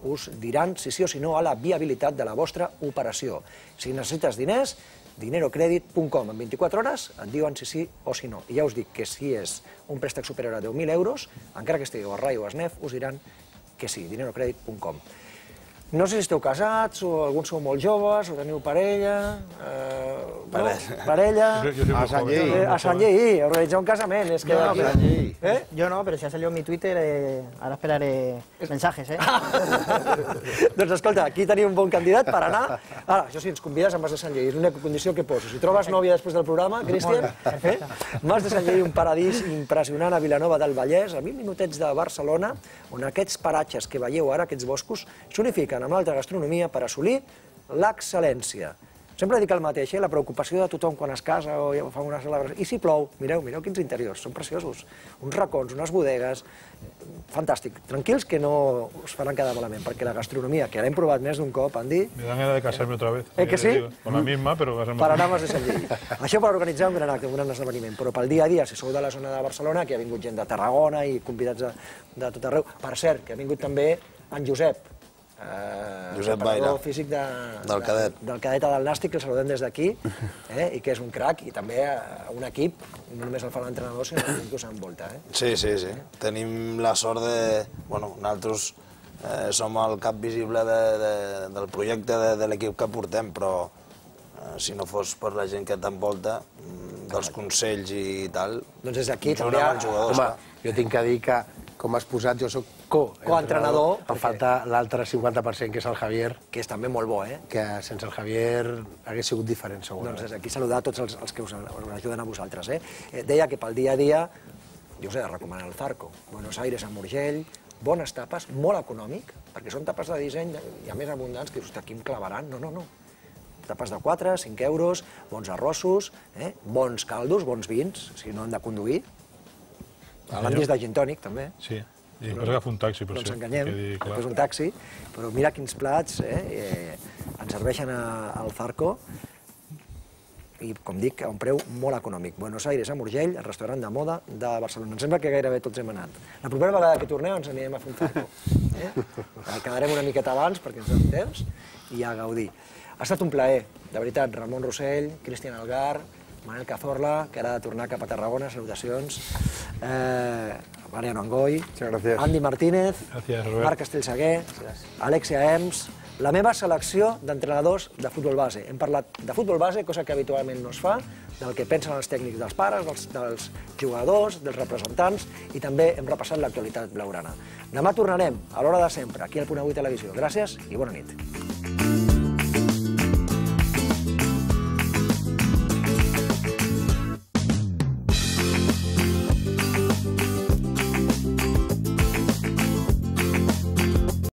us diran si sí o si no a la viabilitat de la vostra operació. Si necessites diners, dinero credit punt com. En vint-i-quatre hores et diuen si sí o si no. I ja us dic que si és un préstec superior a deu mil euros, encara que estigueu a Rai o a Snef, us diran que sí, dinero credit punt com. No sé si esteu casats, o alguns sou molt joves, o teniu parella... Eh, parella. No? Parella... A Sant Lleí. A Sant Lleí, organitzar un casament. És que Yo no, aquí... pero, ¿Eh? yo no, pero si ha salido en mi Twitter, eh, ahora esperaré mensajes, ¿eh? Doncs escolta, aquí tenim un bon candidat per anar... Ara, això sí, ens convides a Mas de Sant Lleí, és l'única condició que poso. Si trobes nòvia després del programa, Cristian, eh? Mas de Sant Lleí, un paradís impressionant a Vilanova del Vallès, a vint minutets de Barcelona, on aquests paratges que veieu ara, aquests boscos, s'unifiquen amb l'alta gastronomia per assolir l'excel·lència. Sempre dic el mateix, eh? La preocupació de tothom quan es casa o fa una celebració. I si plou, mireu, mireu quins interiors, són preciosos. Uns racons, unes bodegues, fantàstic. Tranquils que no us faran quedar malament, perquè la gastronomia, que l'hem provat més d'un cop, Andy... Me dan ganas de casarme otra vez. Eh que sí? Con la misma, però casarme... Per anar a Mas de Sant Lleí. Això per organitzar un gran acte, un gran esdeveniment, però pel dia a dia, si sou de la zona de Barcelona, que ha vingut gent de Tarragona i convidats de, de tot arreu. Per cert, que ha vingut també en Josep, Eh, Josep Baira, físic de, del cadet. De, del cadet del Nàstic, que el saludem des d'aquí, eh, i que és un crac, i també un equip, no només el fa l'entrenador, sinó que inclús s'envolta. Eh? Sí, sí, sí. Tenim la sort de... Bueno, nosaltres eh, som el cap visible de, de, del projecte de, de l'equip que portem, però eh, si no fos per la gent que t'envolta, dels consells i tal... Doncs des d'aquí junt també... amb els jugadors, Home, jo tinc que dir que com has posat, jo soc co-entrenador. Em falta l'altre cinquanta per cent, que és el Javier. Que és també molt bo, eh? Que sense el Javier hagués sigut diferent, segurament. Doncs aquí saludar tots els, els que us, us ajuden a vosaltres. Eh? Deia que pel dia a dia, jo us he de recomanar el Zarco. Buenos Aires amb Urgell, bones tapes, molt econòmic, perquè són tapes de disseny i a més abundants, que dius, aquí em clavaran. No, no, no. Tapes de quatre, cinc euros, bons arrossos, eh? bons caldos, bons vins, si no han de conduir. L'Andis de gin tònic, també. Sí, i després agafa un taxi, per no ser. No ens enganyem, després un taxi, però mira quins plats eh, ens serveixen al Zarco i, com dic, a un preu molt econòmic. Buenos Aires amb Urgell, el restaurant de moda de Barcelona. Em sembla que gairebé tots hem anat. La propera vegada que torneu ens anirem a fer un Zarco. Eh? El quedarem una miqueta abans perquè ens donem temps i a gaudir. Ha estat un plaer, de veritat, Ramon Rossell, Cristian Algar, Manel Cazorla, que ara ha de tornar cap a Tarragona, salutacions. Eh, Mariano Angoy, Andy Martínez, Gràcies, Marc Castellsaguer, Alexia Ems, la meva selecció d'entrenadors de futbol base. Hem parlat de futbol base, cosa que habitualment no es fa, del que pensen els tècnics dels pares, dels, dels jugadors, dels representants, i també hem repassat l'actualitat blaugrana. Demà tornarem, a l'hora de sempre, aquí al Punt Avui Televisió. Gràcies i bona nit.